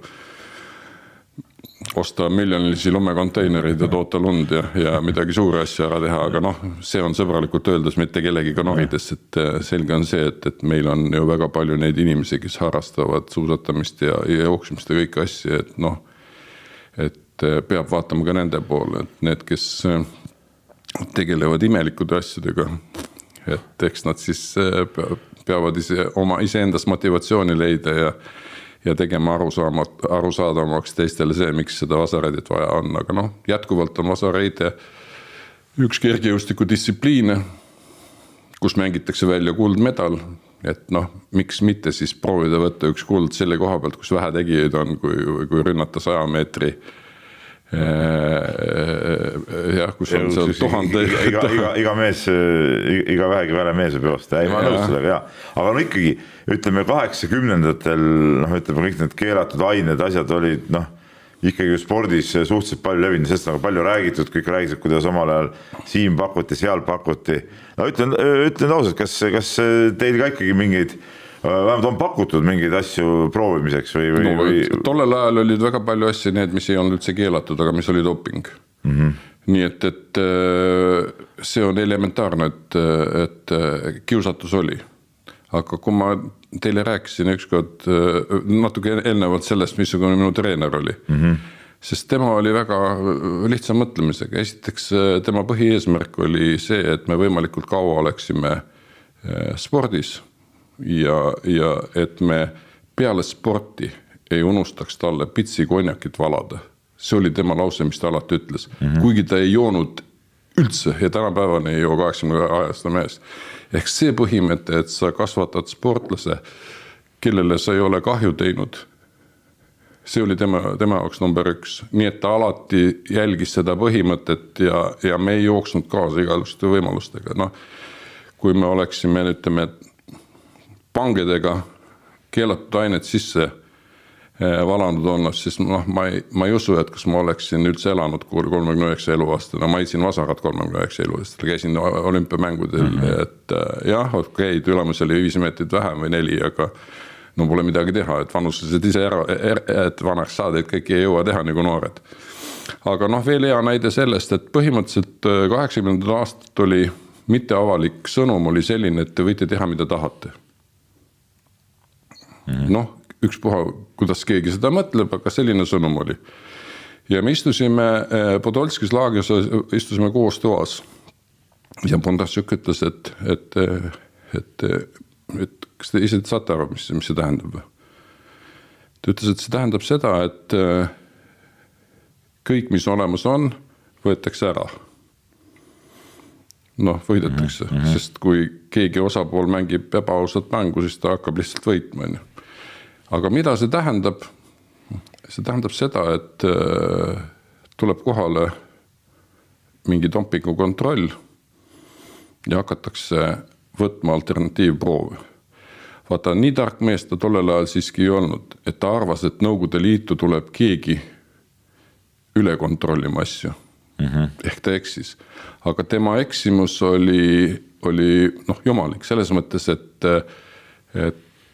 [SPEAKER 3] osta miljonilisi lumekonteinerid ja toota lund ja midagi suuri asju ära teha, aga see on sõbralikult öeldes mitte kellegiga norides, et selge on see, et meil on ju väga palju neid inimesi, kes harrastavad suusatamist ja jooksmist ja kõiki asju, et peab vaatama ka nende poole, et need, kes tegelevad imelikude asjadega, et eks nad siis peavad iseendast motivatsiooni leida ja tegema arusaadavamaks teistele see, miks seda vasareidet vaja on, aga jätkuvalt on vasareide üks kergejõustiku distsipliine, kus mängitakse välja kuldmedal, et miks mitte siis proovida võtta üks kuld selle koha pealt, kus vähe tegijaid on, kui rünnata 100 meetri kus on seal 1000
[SPEAKER 1] iga mees, iga vähegi väle mees võib joosta, ei ma nõus sellega, aga ikkagi ütleme 80-ndatel ütleme kõik need keelatud ained, asjad olid ikkagi spordis suhteliselt palju levinud, sest palju räägitud, kõik räägitud, kuidas omal ajal siin pakuti, seal pakuti. Ütlen ausalt, kas teil ka ikkagi mingeid vähemalt on pakutud mingeid asju proovimiseks või?
[SPEAKER 3] Tollel ajal olid väga palju asju need, mis ei olnud üldse keelatud, aga mis oli doping. Nii et see on elementaarne, et kiusatus oli. Aga kui ma teile rääkisin ükskord natuke eelnevalt sellest, missugune minu treener oli, sest tema oli väga lihtsa mõtlemisega. Esiteks tema põhieesmärk oli see, et me võimalikult kaua oleksime spordis ja et me peale sporti ei unustaks talle pitsi konjakit valada. See oli tema lause, mis ta alati ütles. Kuigi ta ei joonud üldse ja tänapäevani ei joo 80-aastane mees. Ehk see põhimõte, et sa kasvatad sportlase, kellele sa ei ole kahju teinud, see oli tema jaoks number 1. Nii et ta alati jälgis seda põhimõtet ja me ei jooksnud kaasa igasuguste võimalustega. Kui me oleksime, ütleme, pangedega keelatud ainet sisse valanud olnud, siis ma ei usu, et kas ma oleksin üldse elanud 39 eluaastana. Ma isin vasarat 39 eluaastana, käisin olümpiamängudel, et jah, okei, tulemus oli 5 meetrit vähem või 4, aga pole midagi teha, et vanuslased ise et vanaks saada, et kõik ei jõua teha nagu noored. Aga veel hea näide sellest, et põhimõtteliselt 80 aastat oli mitteavalik sõnum oli selline, et te võite teha, mida tahate. Ükspuha, kuidas keegi seda mõtleb, aga selline sõnum oli. Ja me istusime Podolskis laagris, istusime koos toas. Ja Bondarsjuk ütles, et kas te ise saate aru, mis see tähendab? Ta ütles, et see tähendab seda, et kõik, mis olemas on, võetakse ära. Võidetakse, sest kui keegi osapool mängib ebaausat mängu, siis ta hakkab lihtsalt võitma. Aga mida see tähendab? See tähendab seda, et tuleb kohale mingi dopingu kontroll ja hakatakse võtma alternatiivproove. Vaata, nii tark mees ta tollel ajal siiski ei olnud, et ta arvas, et Nõukogude Liitu tuleb keegi üle kontrollima asju. Ehk ta eksis. Aga tema eksimus oli jumalik selles mõttes, et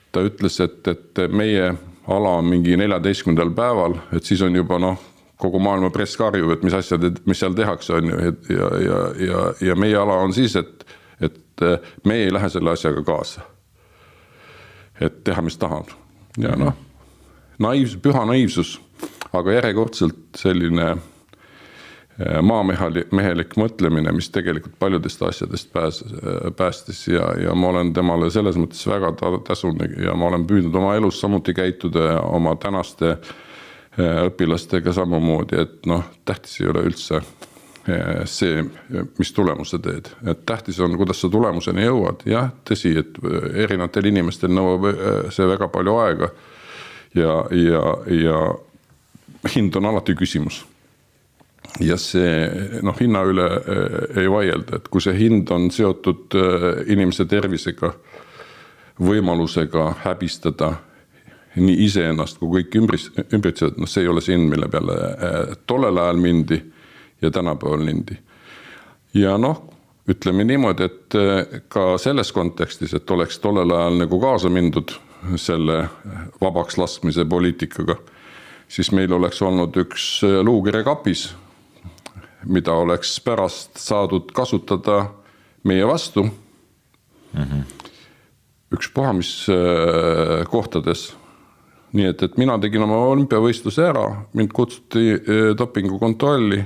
[SPEAKER 3] ta ütles, et meie ala on mingi 14. päeval, et siis on juba kogu maailma press karjub, et mis seal tehakse on ju, ja meie ala on siis, et me ei lähe selle asjaga kaasa. Et teha, mis tahab. Ja püha naiivsus, aga järjekordselt selline maamehelik mõtlemine, mis tegelikult paljudest asjadest päästis ja ma olen temale selles mõttes väga tasunud ja ma olen püüdnud oma elus samuti käituda oma tänaste õpilastega samamoodi, et tähtis ei ole üldse see, mis tulemuse teed. Et tähtis on, kuidas sa tulemuseni jõuad. Jah, tõsi, et erinevatel inimestel nõuab see väga palju aega ja hind on alati küsimus. Ja see hinna üle ei vaielda, et kui see hind on seotud inimese tervisega, võimalusega häbistada nii iseennast kui kõik ümbritsevad, see ei ole see hind, mille peale tollel ajal mindi ja tänapäeval mindi. Ja ütleme niimoodi, et ka selles kontekstis, et oleks tollel ajal nagu kaasa mindud selle vabaks laskmise poliitikaga, siis meil oleks olnud üks luukere kapis, mida oleks pärast saadud kasutada meie vastu. Ükspuha mis kohtades. Nii et mina tegin oma olümpiavõistluse ära, mind kutsuti dopingukontrolli,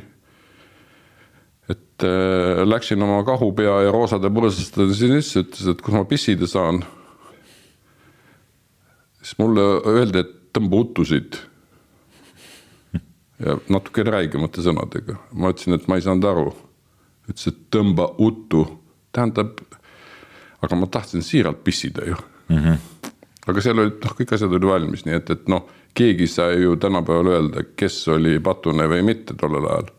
[SPEAKER 3] et läksin oma kahupea ja roosade põrsastade sinisse, ütles, et kus ma pissida saan. Siis mulle öeldi, et tõmba uttusid. Ja natuke räigemate sõnadega. Ma ütlesin, et ma ei saanud aru. Ütles, et tõmba uttu. Tähendab, aga ma tahtsin siiralt pissida ju. Aga seal olid, kõik asjad oli valmis, nii et keegi sai ju tänapäeval öelda, kes oli patune või mitte tollel ajal.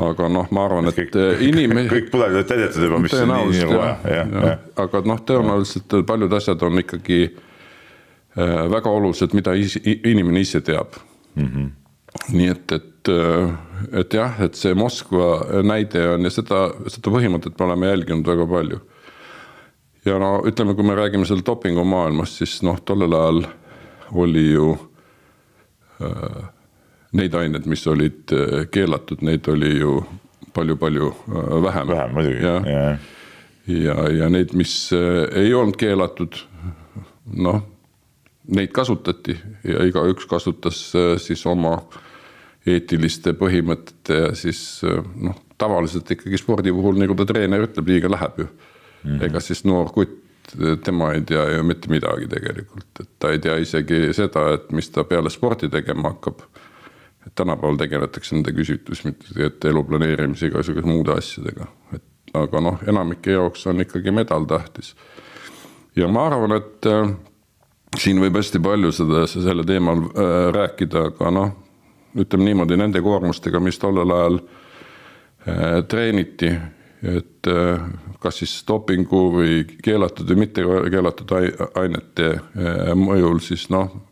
[SPEAKER 3] Aga ma arvan, et
[SPEAKER 1] kõik pudalid olid täidetud juba, mis on nii vaja.
[SPEAKER 3] Aga tõenäoliselt paljud asjad on ikkagi väga olulised, mida inimene ise teab. Nii et jah, et see Moskva näide on ja seda põhimõtet me oleme jälginud väga palju. Ja ütleme, kui me räägime seal dopingu maailmast, siis tollel ajal oli ju neid ained, mis olid keelatud, neid oli ju palju-palju vähem.
[SPEAKER 1] Vähem, muidugi.
[SPEAKER 3] Ja neid, mis ei olnud keelatud, neid kasutati ja igaüks kasutas siis oma eetiliste põhimõtete ja siis tavaliselt ikkagi spordi puhul, nagu ta treener ütleb, liiga läheb ju. Ega siis noor kutt, tema ei tea ju mitte midagi tegelikult. Et ta ei tea isegi seda, et mis ta peale spordi tegema hakkab. Et tänapäeval tegeletakse nende küsitlusmitega, et elu planeerimise igasuguse muude asjadega. Aga enamike jaoks on ikkagi medal tähtis. Ja ma arvan, et siin võib hästi palju selle teemal rääkida, aga ütleme niimoodi nende koormustega, mis tollel ajal treeniti, et kas siis dopingu või keelatud või mitte keelatud ainete mõjul, siis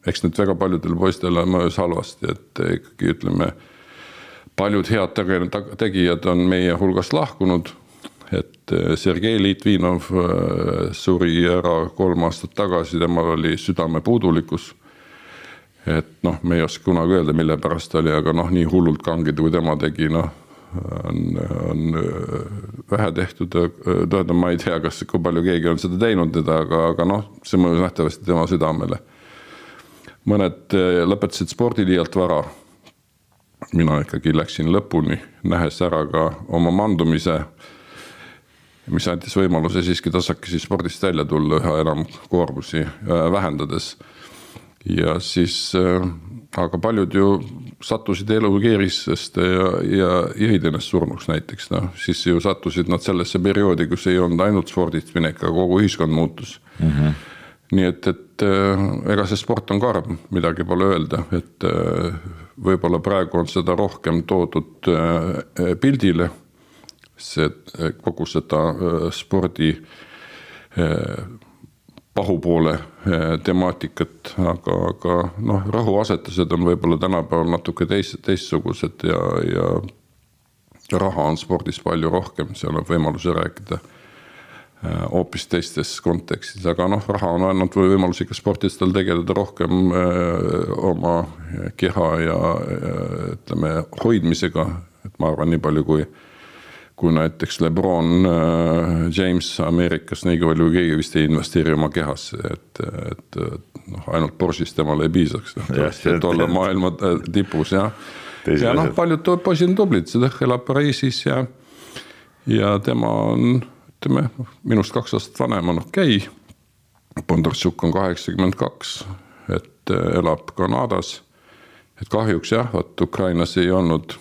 [SPEAKER 3] eks need väga paljudel poistele mõjus halvasti, et ikkagi ütleme, paljud head tegijad on meie hulgast lahkunud, et Sergei Litvinov suri ära 3 aastat tagasi, temal oli südame puudulikkus, et me ei oska kunagi öelda, mille pärast oli, aga nii hullult kangid, kui tema tegi, on vähe tehtud, ma ei tea, kui palju keegi on seda teinud, aga see mõjus nähtavasti tema südamele. Mõned lõpetasid spordi liialt vara. Mina ikkagi läksin lõpuni, nähes ära ka oma mandumise, mis andis võimaluse siiski tasakesi spordist välja tulla üha enam koormusi vähendades. Ja siis, aga paljud ju sattusid elukeerisest ja jõid ennast surnuks näiteks. Siis ju sattusid nad sellesse perioodi, kus ei olnud ainult spordist minek, aga kogu ühiskond muutus. Nii et ega see sport on karm, midagi pole öelda, et võib-olla praegu on seda rohkem toodud pildile, kogu seda spordi pahupoole temaatikat, aga rõhuasetused on võib-olla tänapäeval natuke teistsugused ja raha on spordis palju rohkem, seal on võimaluse rääkida hoopis teistes kontekstis, aga noh, raha on andnud võimalus ikka sportistel tegeleda rohkem oma keha ja ütleme hoidmisega, et ma arvan nii palju kui näiteks LeBron James Ameerikas, nii palju keegi vist ei investeeri oma kehasse, et noh, ainult Porsche'ist temale ei piisaks, et olla maailma tipus ja noh, paljud poisid on tublid, seda elab Pariisis ja tema on, ütleme, minust 2 aastat vanem on okei. Bondarchuk on 82, et elab Kanadas, et kahjuks jah, et Ukrainas ei olnud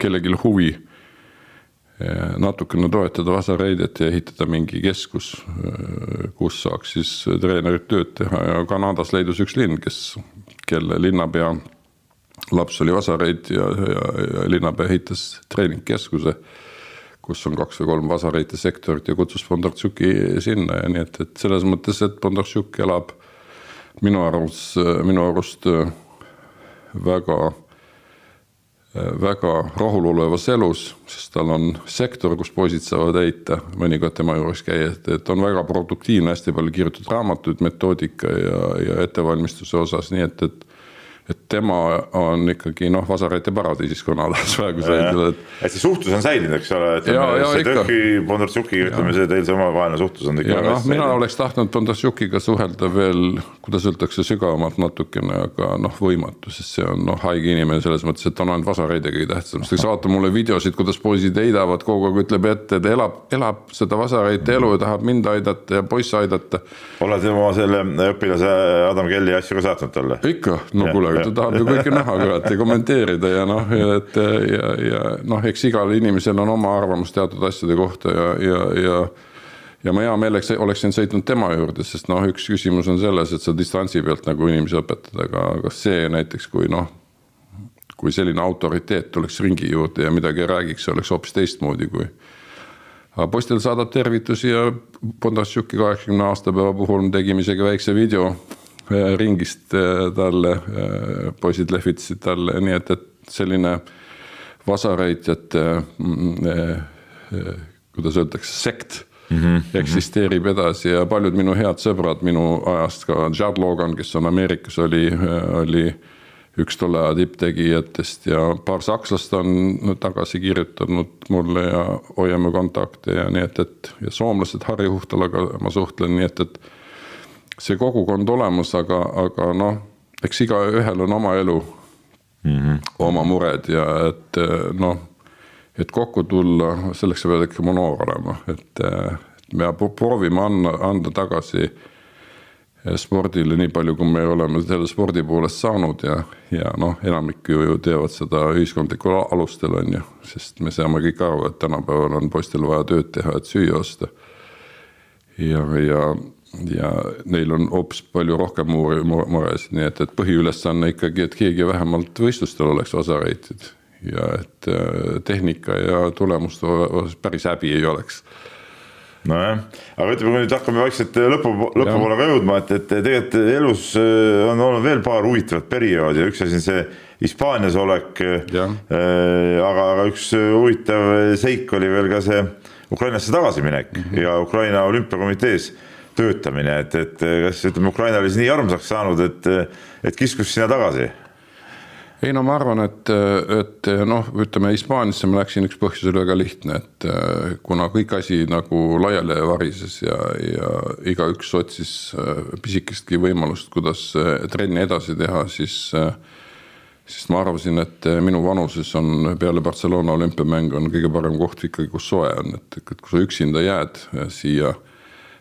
[SPEAKER 3] kellelgi huvi natukene toetada vasareidet ja ehitada mingi keskus, kus saaks siis treenerid tööd teha ja Kanadas leidus üks linn, kelle linnapea laps oli vasareid ja linnapea ehitas treeningkeskuse, kus on 2 või 3 vasareite sektorit ja kutsus Bondarchuki sinna ja nii, et selles mõttes, et Bondarchuk elab minu arust väga rahulolevas elus, sest tal on sektor, kus poisid saavad heita, mõnikord tema juures käia, et on väga produktiivne, hästi palju kirjutatud raamatuid, metoodika ja ettevalmistuse osas, nii et tema on ikkagi vasareite paradiisis Kanadas praegu
[SPEAKER 1] see. Et see suhtlus on säilinud, eks ole, et see Tõhki Bondarchukiga, ütleme see teil see omavaheline suhtlus on ikka väga
[SPEAKER 3] mina oleks tahtnud Bondarchukiga suhelda veel, kuidas öeldakse, sügavamalt natukene, aga võimatu, sest see on haige inimene selles mõttes, et on ainult vasareidegi tähtsam. Sest vaata mulle videosid, kuidas poisid heidavad, kogu aeg ütleb ette, et elab seda vasareite elu ja tahab mind aidata ja poiss aidata.
[SPEAKER 1] Oled oma selle õpilase Adam Kelly asju ka saatnud talle?
[SPEAKER 3] Ikka, no kuule, ta tahab ju kõike näha ja kommenteerida ja eks igal inimesel on oma arvamus teatud asjade kohta ja ma hea meeleks oleksin sõitnud tema juurde, sest üks küsimus on selles, et sa distantsi pealt nagu inimesi õpetad, aga see näiteks, kui selline autoriteet tuleks ringi juurde ja midagi räägiks, oleks hoopis teistmoodi kui. Aga poistel saadab tervitusi ja Bondarchuki 80 aastapäeva puhul tegime isegi väikse video ringist talle, poisid lehvitasid talle, nii et selline vasareitjate, kuidas öeldakse, sekt eksisteerib edasi ja paljud minu head sõbrad minu ajast, ka Judd Logan, kes on Ameerikas, oli üks tolle aja tipptegijatest ja paar sakslast on tagasi kirjutanud mulle ja hoiame kontakte ja nii ja soomlased Harri Huhtalaga ma suhtlen, nii et see kogukond olemas, aga eks iga ühel on oma elu, oma mured ja et kokku tulla, selleks sa pead ikka noor olema, et me proovime anda tagasi spordile nii palju, kui me oleme selle spordi poolest saanud ja enamik ju teevad seda ühiskondlikul alustel on ju, sest me saame kõik aru, et tänapäeval on poistel vaja tööd teha, et süüa osta ja neil on hoopis palju rohkem muresid, nii et põhiülesanne ikkagi, et keegi vähemalt võistlustel oleks vasareitid ja et tehnika ja tulemust päris häbi ei oleks.
[SPEAKER 1] Nojah, aga ütleme, kui nüüd hakkame vaikselt lõpupoole ka jõudma, et tegelikult elus on olnud veel paar huvitavat perioodi ja üks asi on see Hispaanias olek, aga üks huvitav seik oli veel ka see Ukrainasse tagasiminek ja Ukraina olümpiakomitees töötamine, et kas ütleme, Ukraina oli nii armsaks saanud, et kiskus sinna tagasi?
[SPEAKER 3] Ei, ma arvan, et ütleme, Hispaanisse ma läksin üks põhjus oli väga lihtne, et kuna kõik asi nagu laiali varises ja iga üks otsis pisikestki võimalust, kuidas trenni edasi teha, siis ma arvasin, et minu vanuses on peale Barcelona olümpiamäng on kõige parem koht ikkagi, kus soe on, et kui sa üksinda jääd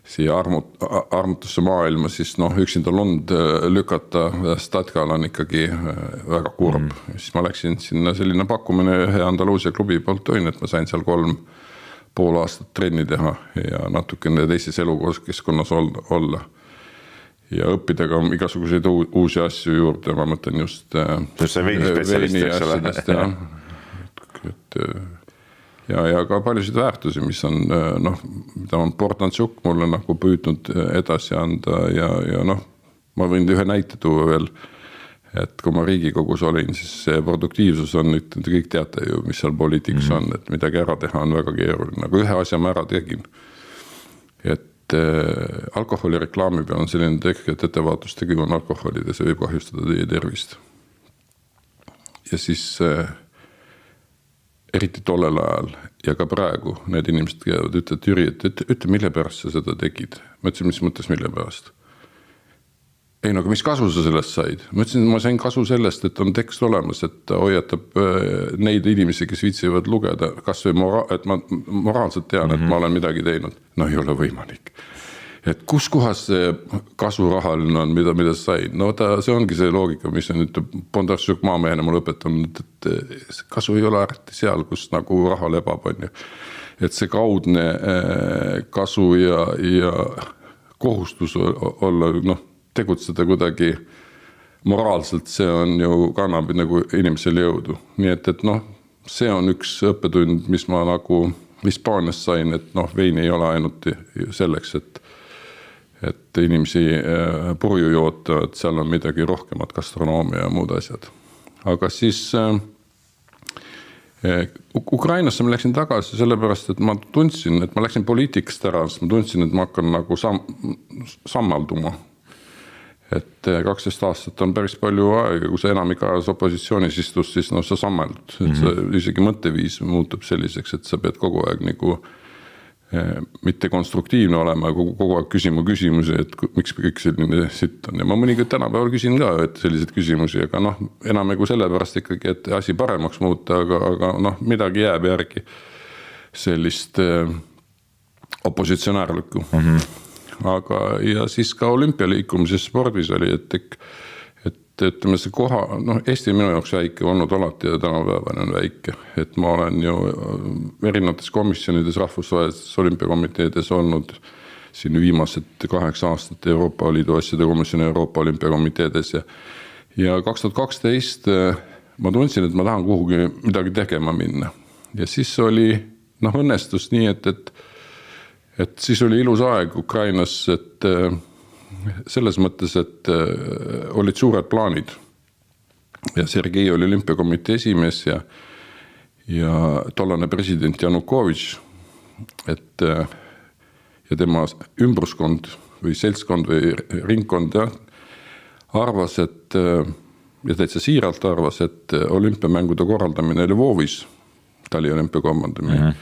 [SPEAKER 3] siia armutusse maailma, siis üksinda lund lükata Statkal on ikkagi väga kurb. Siis ma läksin sinna selline pakkumine ühe Andaluusia klubi poolt toin, et ma sain seal 3,5 aastat trenni teha ja natukene teises elukeskkonnas olla. Ja õppida ka igasuguseid uusi asju juurde, ma mõtlen just
[SPEAKER 1] veini
[SPEAKER 3] asjadest ja ka paljusid väärtusi, mis on, mida on Bondarchuk mulle nagu püüdnud edasi anda ja ma võin ühe näite tuua veel, et kui ma Riigikogus olin, siis see produktiivsus on, nüüd kõik teate ju, mis seal poliitikas on, et midagi ära teha on väga keeruline, aga ühe asja ma ära tegin. Et alkoholireklaami peal on selline tekk, et ettevaatustegi on alkoholid ja see võib kahjustada teie tervist. Ja siis eriti tollel ajal ja ka praegu need inimesed käivad, ütlevad Jüri, et ütle, mille pärast sa seda tegid. Ma ütlesin, mis mõttes mille pärast? Ei, no aga mis kasu sa sellest said? Ma ütlesin, et ma sain kasu sellest, et on tekst olemas, et hoiatab neid inimesi, kes viitsivad lugeda, kas või et ma moraalselt tean, et ma olen midagi teinud. No ei ole võimalik. Et kus kohas see kasu rahaline on, mida sa said? No see ongi see loogika, mis on nüüd Bondarsuk maamehena mulle õpetanud, et kasu ei ole ärti seal, kus nagu raha lebab on ju. Et see kaudne kasu ja kohustus olla, tegutseda kuidagi moraalselt, see on ju kannab nagu inimesele jõudu. Nii et see on üks õppetund, mis ma nagu Hispaanias sain, et vein ei ole ainult selleks, et inimesi purju joota, et seal on midagi rohkemat, gastronoomia ja muud asjad. Aga siis Ukrainasse ma läksin tagasi sellepärast, et ma tundsin, et ma läksin poliitikast ära, sest ma tundsin, et ma hakkan nagu sammalduma. Et 12 aastat on päris palju aega, kui sa enamik ajas opositsioonis istus, siis sa sammaldud. Et sa isegi mõtteviis muutub selliseks, et sa pead kogu aeg nagu mitte konstruktiivne olema, kogu aeg küsima küsimusi, et miks kõik selline sitt on. Ja ma mõnikord tänapäeval küsin ka, et sellised küsimusi, aga enam kui sellepärast ikkagi, et asi paremaks muuta, aga midagi jääb järgi sellist opositsionäärlikku. Aga ja siis ka olümpialiikumises spordis oli, et ütleme see koha, Eesti minu jaoks väike olnud alati ja tänapäevane on väike, et ma olen ju erinevates komisjonides, rahvusvahelistes olümpiakomiteedes olnud siin viimased 8 aastat Euroopa Liidu asjade komisjoni Euroopa olümpiakomiteedes ja 2012 ma tundsin, et ma tahan kuhugi midagi tegema minna ja siis oli õnnestus nii, et siis oli ilus aeg Ukrainas, et selles mõttes, et olid suured plaanid ja Sergei oli olümpiakomitee esimees ja tollane president Janukovitš, ja tema ümbruskond või seltskond või ringkond arvas, ja täitsa siiralt arvas, et olümpiamängude korraldamine Lvovis, Tali olümpiakomandamine,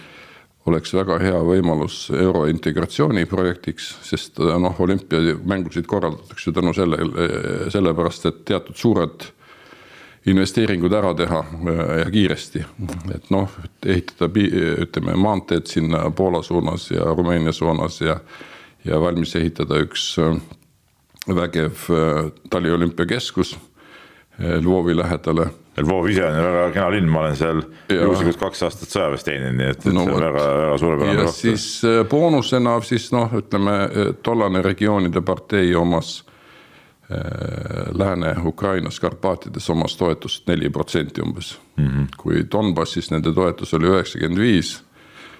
[SPEAKER 3] oleks väga hea võimalus eurointegratsiooni projektiks, sest olümpiamängusid korraldatakse ju tänu sellepärast, et teatud suured investeeringud ära teha ja kiiresti. Et ehitada ütleme, maanteed sinna Poola suunas ja Rumeenia suunas ja valmis ehitada üks vägev Tali olümpiakeskus Lvovi lähedale.
[SPEAKER 1] Lvov ise on väga kena linn, ma olen seal juhusikult 2 aastat sõjaväes teeninud, nii et see on väga suurepärane.
[SPEAKER 3] Ja siis boonusena siis ütleme, tollane regioonide partei omas Lääne-Ukrainas, Karpaatides omas toetust 4% umbes. Kui Donbassis nende toetus oli 95,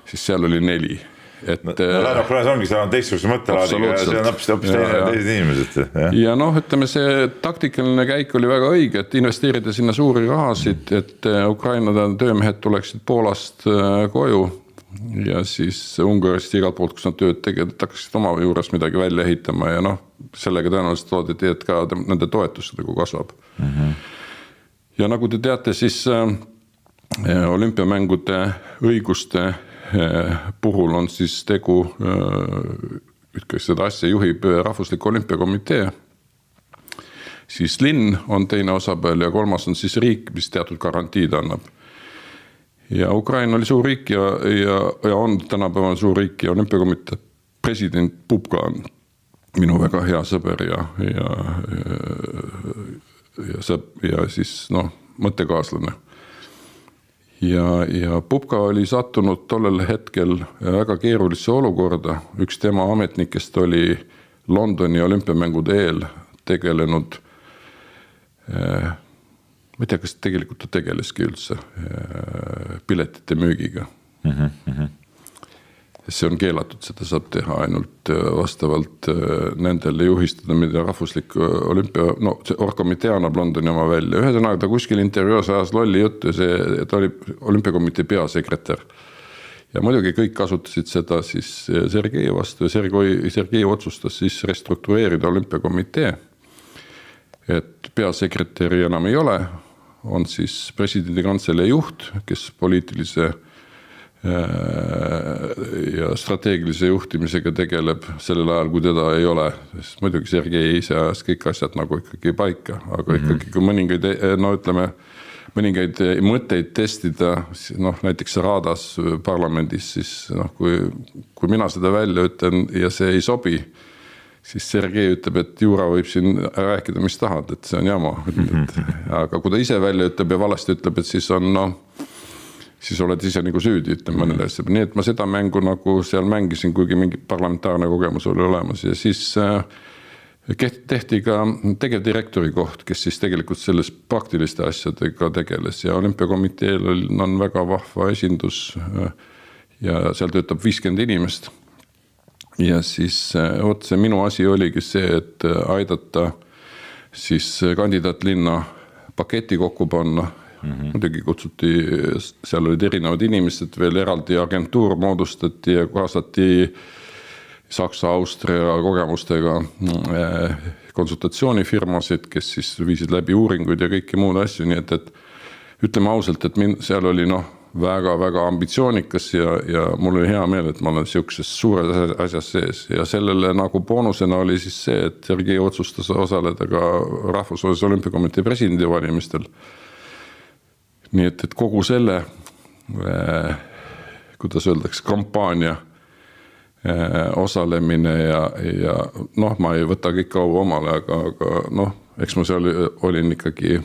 [SPEAKER 3] siis seal oli 4%.
[SPEAKER 1] Lääne-Ukrainas ongi, seal on teistsuguse mõttelaadiga ja see on hoopis teised inimesed.
[SPEAKER 3] Ja ütleme, see taktikaline käik oli väga õige, et investeerida sinna suuri rahasid, et Ukraina töömehed tuleksid Poolast koju ja siis Ungarist igalt poolt, kus nad tööd tegid, et hakkasid oma juures midagi välja ehitama ja sellega tõenäoliselt loodeti, et ka nende toetus kasvab. Ja nagu te teate, siis olümpiamängude õiguste puhul on siis tegu, seda asja juhib Rahvuslik olümpiakomitee, siis linn on teine osapäev ja kolmas on siis riik, mis teatud garantiid annab. Ja Ukraina oli suur riik ja on tänapäeval suur riik ja olümpiakomitee president Pupka on minu väga hea sõber ja siis mõttekaaslane. Ja Pupka oli sattunud tollel hetkel väga keerulisse olukorda. Üks tema ametnikest oli Londoni olümpiamängude eel tegelenud, ma ei tea, kas tegelikult ta tegeleski üldse piletite müügiga. see on keelatud, seda saab teha ainult vastavalt nendele juhistada, mida rahvuslik olümpia, no see orgkomitee annab Londoni oma välja. Ühesõnaga ta kuskil intervjuus ajas lolli juttu, ta oli olümpiakomitee peasekretär. Ja muidugi kõik kasutasid seda siis Sergei vastu ja Sergei otsustas siis restruktureerida olümpiakomitee. Et peasekretäri enam ei ole, on siis presidendi kantselei juht, kes poliitilise ja strateegilise juhtimisega tegeleb sellel ajal, kui teda ei ole. Sest muidugi Sergei ise ajas kõik asjad nagu ikkagi paika, aga ikkagi kui mõningaid, no ütleme, mõningaid mõtteid testida, noh näiteks Raadas parlamendis, siis noh, kui mina seda välja ütlen ja see ei sobi, siis Sergei ütleb, et Juura võib siin rääkida, mis tahad, et see on jama. Aga kui ta ise välja ütleb ja valesti ütleb, et siis on noh, siis oled ise nagu süüdi, ütleme mõnele asja. Nii et ma seda mängu nagu seal mängisin, kuigi mingi parlamentaarne kogemus oli olemas ja siis tehti ka tegevdirektori koht, kes siis tegelikult selles praktiliste asjadega tegeles ja olümpiakomiteel on väga vahva esindus ja seal töötab 50 inimest. Ja siis see minu asi oligi see, et aidata siis kandidaatlinna paketi kokku panna. Muidugi kutsuti, seal olid erinevad inimesed, veel eraldi agentuur moodustati ja kaasati Saksa, Austria kogemustega konsultatsioonifirmasid, kes siis viisid läbi uuringuid ja kõiki muud asju, nii et ütleme ausalt, et seal oli väga-väga ambitsioonikas ja mul oli hea meel, et ma olen siukses suures asjas sees ja sellele nagu boonusena oli siis see, et Sergei otsustas osaleda ka Rahvusvahelise olümpiakomitee presidendi valimistel. Nii et kogu selle, kuidas öeldakse, kampaania osalemine ja noh, ma ei võta kõik kaua omale, aga noh, eks ma seal olin ikkagi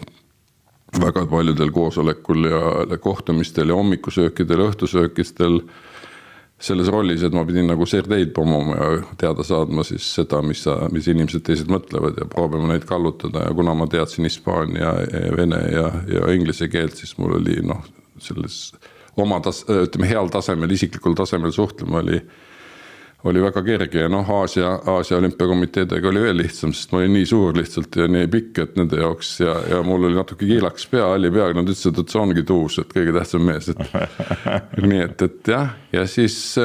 [SPEAKER 3] väga paljudel koosolekul ja kohtumistel ja hommikusöökidel, õhtusöökistel selles rollis, et ma pidin nagu Sergeid pomoma ja teada saadma siis seda, mis inimesed teised mõtlevad ja proovima neid kallutada ja kuna ma teadsin hispaania, vene ja inglise keelt, siis mul oli noh, selles oma ütleme, heal tasemel, isiklikul tasemel suhtlema oli väga kerge ja noh, Aasia olümpiakomiteedega oli veel lihtsam, sest ma olin nii suur lihtsalt ja nii pikk, et nende jaoks ja mul oli natuke kiilaks pea, halli pea, nad ütlesid, et see ongi tuus, et kõige tähtsam mees. Nii et jah, ja siis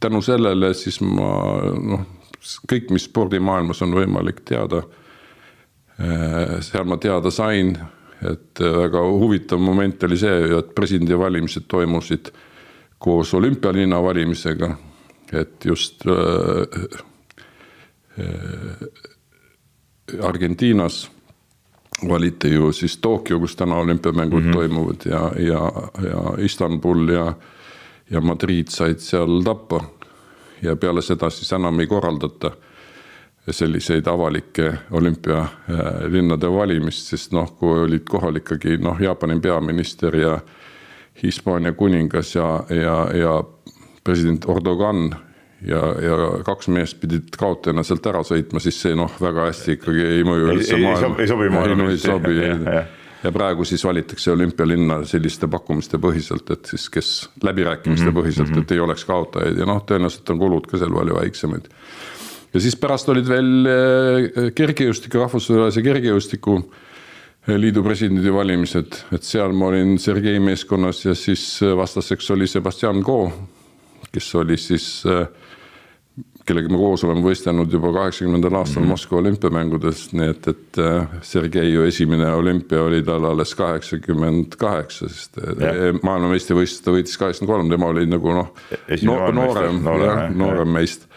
[SPEAKER 3] tänu sellele siis ma, noh, kõik, mis spordimaailmas on võimalik teada, seal ma teada sain, et väga huvitav moment oli see, et presidendi valimised toimusid koos olümpialinna valimisega, et just Argentiinas valiti ju siis Tokyo, kus täna olümpiamängud toimuvad ja Istanbul ja Madrid said seal tappa ja peale seda siis enam ei korraldata selliseid avalikke olümpialinnade valimist, sest noh, kui olid kohal ikkagi noh, Jaapani peaminister ja Hispaania kuningas ja president Erdogan ja kaks meest pidid kaotajana sealt ära sõitma, siis see noh, väga hästi ikkagi ei mõju üldse maailma. Ei sobi. Ja praegu siis valitakse olümpialinna selliste pakkumiste põhiselt, et siis kes läbirääkimiste põhiselt, et ei oleks kaotajaid ja noh, tõenäoliselt on kulud ka seal palju väiksemaid. Ja siis pärast olid veel kergejõustiku, rahvusvahelise kergejõustiku liidu presidendi valimised, et seal ma olin Sergei meeskonnas ja siis vastaseks oli Sebastian Coe, kes oli siis, kellega ma koos olen võistelnud juba 80. aastal Moskva olümpiamängudes, nii et Sergei ju esimene olümpia oli tal alles 88, sest maailmameistrivõistlus ta võitis 83, tema oli nagu noorem meist.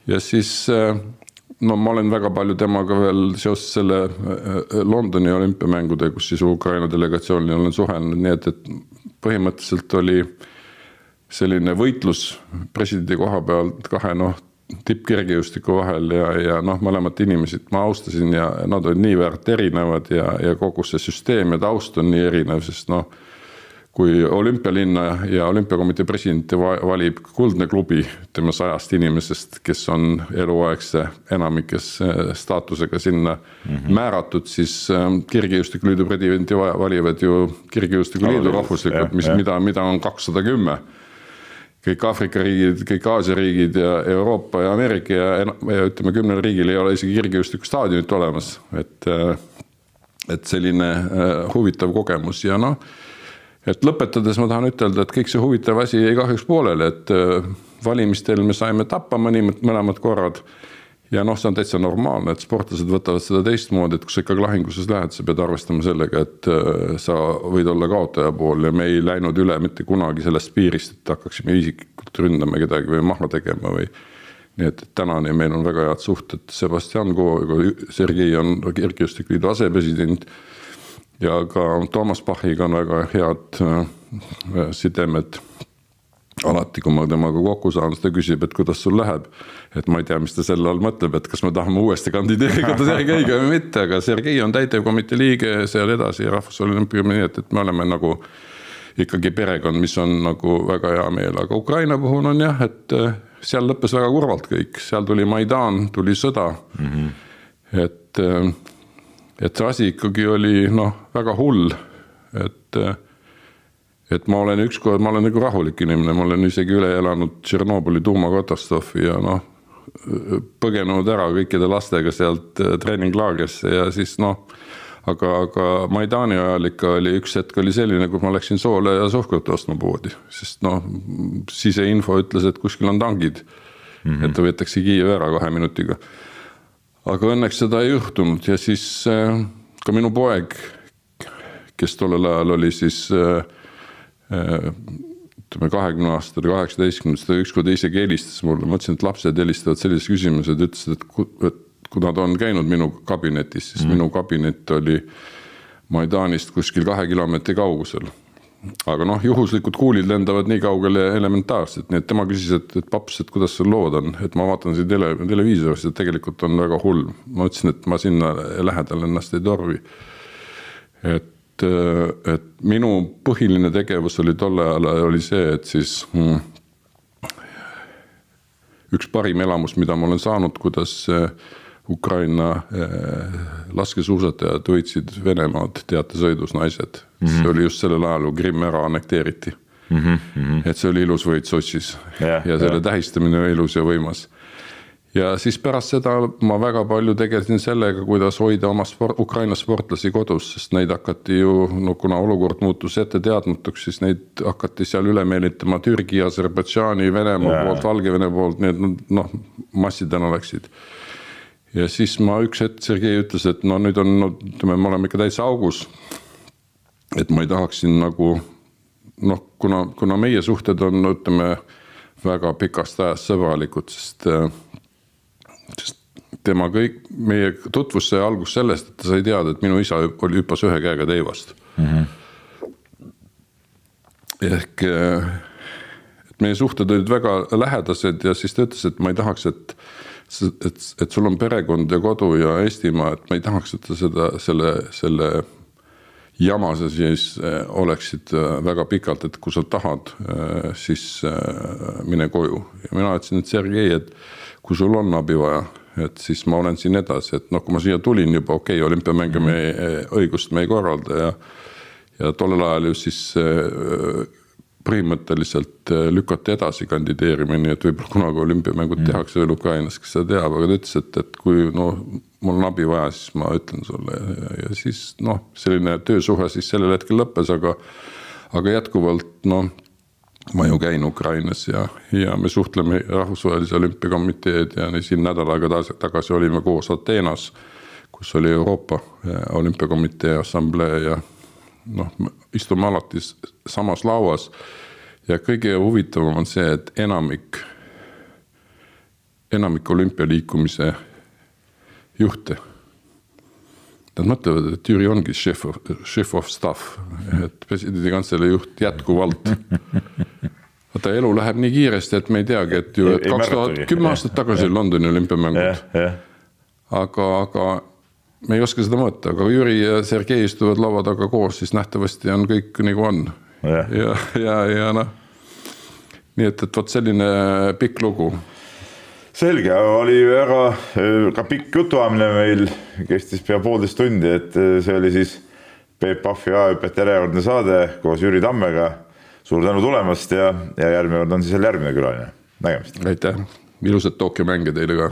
[SPEAKER 3] Ja siis no ma olen väga palju temaga veel seoses selle Londoni olümpiamängude, kus siis Ukraina delegatsioonil olen suhelnud, nii et põhimõtteliselt oli selline võitlus presidendi koha pealt kahe tippkergejõustiku vahel ja mõlemat inimesed ma austasin ja nad olid nii väärt erinevad ja kogu see süsteem ja taust on nii erinev, sest kui olümpialinna ja olümpiakomitee presidenti valib kuldne klubi, ütleme 100 inimesest, kes on eluaegse enamikes staatusega sinna määratud, siis kergejõustiku liidu presidenti valivad ju kergejõustiku liidu rahvuslikult, mida on 210, kõik Aafrika riigid, kõik Aasia riigid ja Euroopa ja Ameerika ja ütleme 10 riigil ei ole isegi kergejõustiku staadionit olemas, et selline huvitav kogemus ja noh, et lõpetades ma tahan ütelda, et kõik see huvitav asi jäi kahjuks pooleli, et valimistel me saime tappa mõlemad korrad ja noh, see on täitsa normaalne, et sportlased võtavad seda teistmoodi, et kui sa ikkagi lahinguses lähed, sa pead arvestama sellega, et sa võid olla kaotaja pool ja me ei läinud üle mitte kunagi sellest piirist, et hakkaksime isiklikult ründama kedagi või maha tegema või nii, et tänani meil on väga head suhted. Sebastian Kooriga, Sergei on Kergejõustikuliidu asepresident ja ka Toomas Pachiga on väga head sidemed. Alati, kui ma temaga kokku saan, ta küsib, et kuidas sul läheb. Et ma ei tea, mis ta selle all mõtleb, et kas me tahame uuesti kandideerida Sergeiga või mitte, aga Sergei on täitevkomitee liige seal edasi Rahvusolümpiumi, nii et me oleme nagu ikkagi perekond, mis on nagu väga hea meel. Aga Ukraina puhul on jah, et seal lõppes väga kurvalt kõik. Seal tuli Maidan, tuli sõda. Et see asi ikkagi oli väga hull, et ma olen ükskord, ma olen nagu rahulik inimene, ma olen isegi üle elanud Tšernobõli tuumakatastroofi ja põgenud ära kõikide lastega sealt treeninglaagrisse ja siis aga Maidani ajal ikka oli üks hetk oli selline, kui ma läksin soole ja sohkrut ostma poodi, sest siseinfo ütles, et kuskil on tangid, et ta võetakse Kiiev ära 2 minutiga. Aga õnneks seda ei juhtunud ja siis ka minu poeg, kes tollel ajal oli siis 20 aastal, 18, ta ükskord isegi helistas mulle, ma ütlesin, et lapsed helistavad sellised küsimused, ütlesid, et kui nad on käinud minu kabinetis, siis minu kabinet oli Maidanist kuskil 2 kilomeetri kaugusel. Aga juhuslikud kuulid lendavad nii kaugele elementaarselt, nii et tema küsis, et paps, et kuidas sul lood on, et ma vaatan siin televiisorist, et tegelikult on väga hull. Ma ütlesin, et ma sinna lähedal ennast ei torvi. Et minu põhiline tegevus oli tolle ajal oli see, et siis üks parim elamus, mida ma olen saanud, kuidas Ukraina laskesuusatajad võitsid Venemaad teatesõidus naised. See oli just sellel ajal, kui Krimm ära annekteeriti. Et see oli ilus võit Sotšis ja selle tähistamine oli ilus ja võimas. Ja siis pärast seda ma väga palju tegelesin sellega, kuidas hoida oma Ukraina sportlasi kodus, sest neid hakati ju, kuna olukord muutus ette teadmatuks, siis neid hakati seal üle meelitama Türgi, Aserbaidžaani, Venemaa poolt, Valgevene poolt, need massidena läksid. Ja siis ma üks hetk Sergei ütles, et nüüd on, me oleme ikka täitsa augus, et ma ei tahaksin nagu, kuna meie suhted on, ütleme, väga pikast ajast sõbralikud, sest tema kõik, meie tutvus sai algus sellest, et ta sai teada, et minu isa oli hüppas 1 käega teivast. Ehk, et meie suhted olid väga lähedased ja siis ta ütles, et ma ei tahaks, et sul on perekond ja kodu ja Eestimaa, et ma ei tahaks, et selle jamase siis oleksid väga pikalt, et kui sa tahad, siis mine koju. Ja mina ütlesin, et Sergei, et kui sul on abi vaja, et siis ma olen siin edasi, et kui ma siia tulin juba, olümpiamänge õigust me ei korralda ja tollel ajal ju siis põhimõtteliselt lükati edasi kandideerimine, et võib-olla kunagi olümpiamängud tehakse veel Ukrainas, kes seda teab, aga ta ütles, et kui mul on abi vaja, siis ma ütlen sulle ja siis selline töösuhe siis sellel hetkel lõppes, aga jätkuvalt ma ju käin Ukrainas ja me suhtleme Rahvusvahelise olümpiakomiteed ja siin nädal aega tagasi olime koos Ateenas, kus oli Euroopa olümpiakomitee assamblee ja istume alati samas lauas ja kõige huvitavam on see, et enamik olümpialiikumise juhte. Nad mõtlevad, et Jüri ongi chef of staff, et presidendi kantselei juht jätkuvalt. Vaata, elu läheb nii kiiresti, et me ei teagi, et 2010 aastat tagasi Londoni olümpiamängud. Aga me ei oska seda mõõta, aga Jüri ja Sergei istuvad laua taga koos, siis nähtavasti on kõik nagu on. Ja nii et võt selline pikk lugu.
[SPEAKER 1] Selge, oli väga ka pikk jutuamine meil, kestis pea 1,5 tundi, et see oli siis Peep Pahvi A-hüpete järjekordne saade koos Jüri Tammega. suur tänu tulemast ja järgmine kord on siis järgmine külaline. Nägemist.
[SPEAKER 3] Aitäh, ilusat Tokyo mänge teile ka.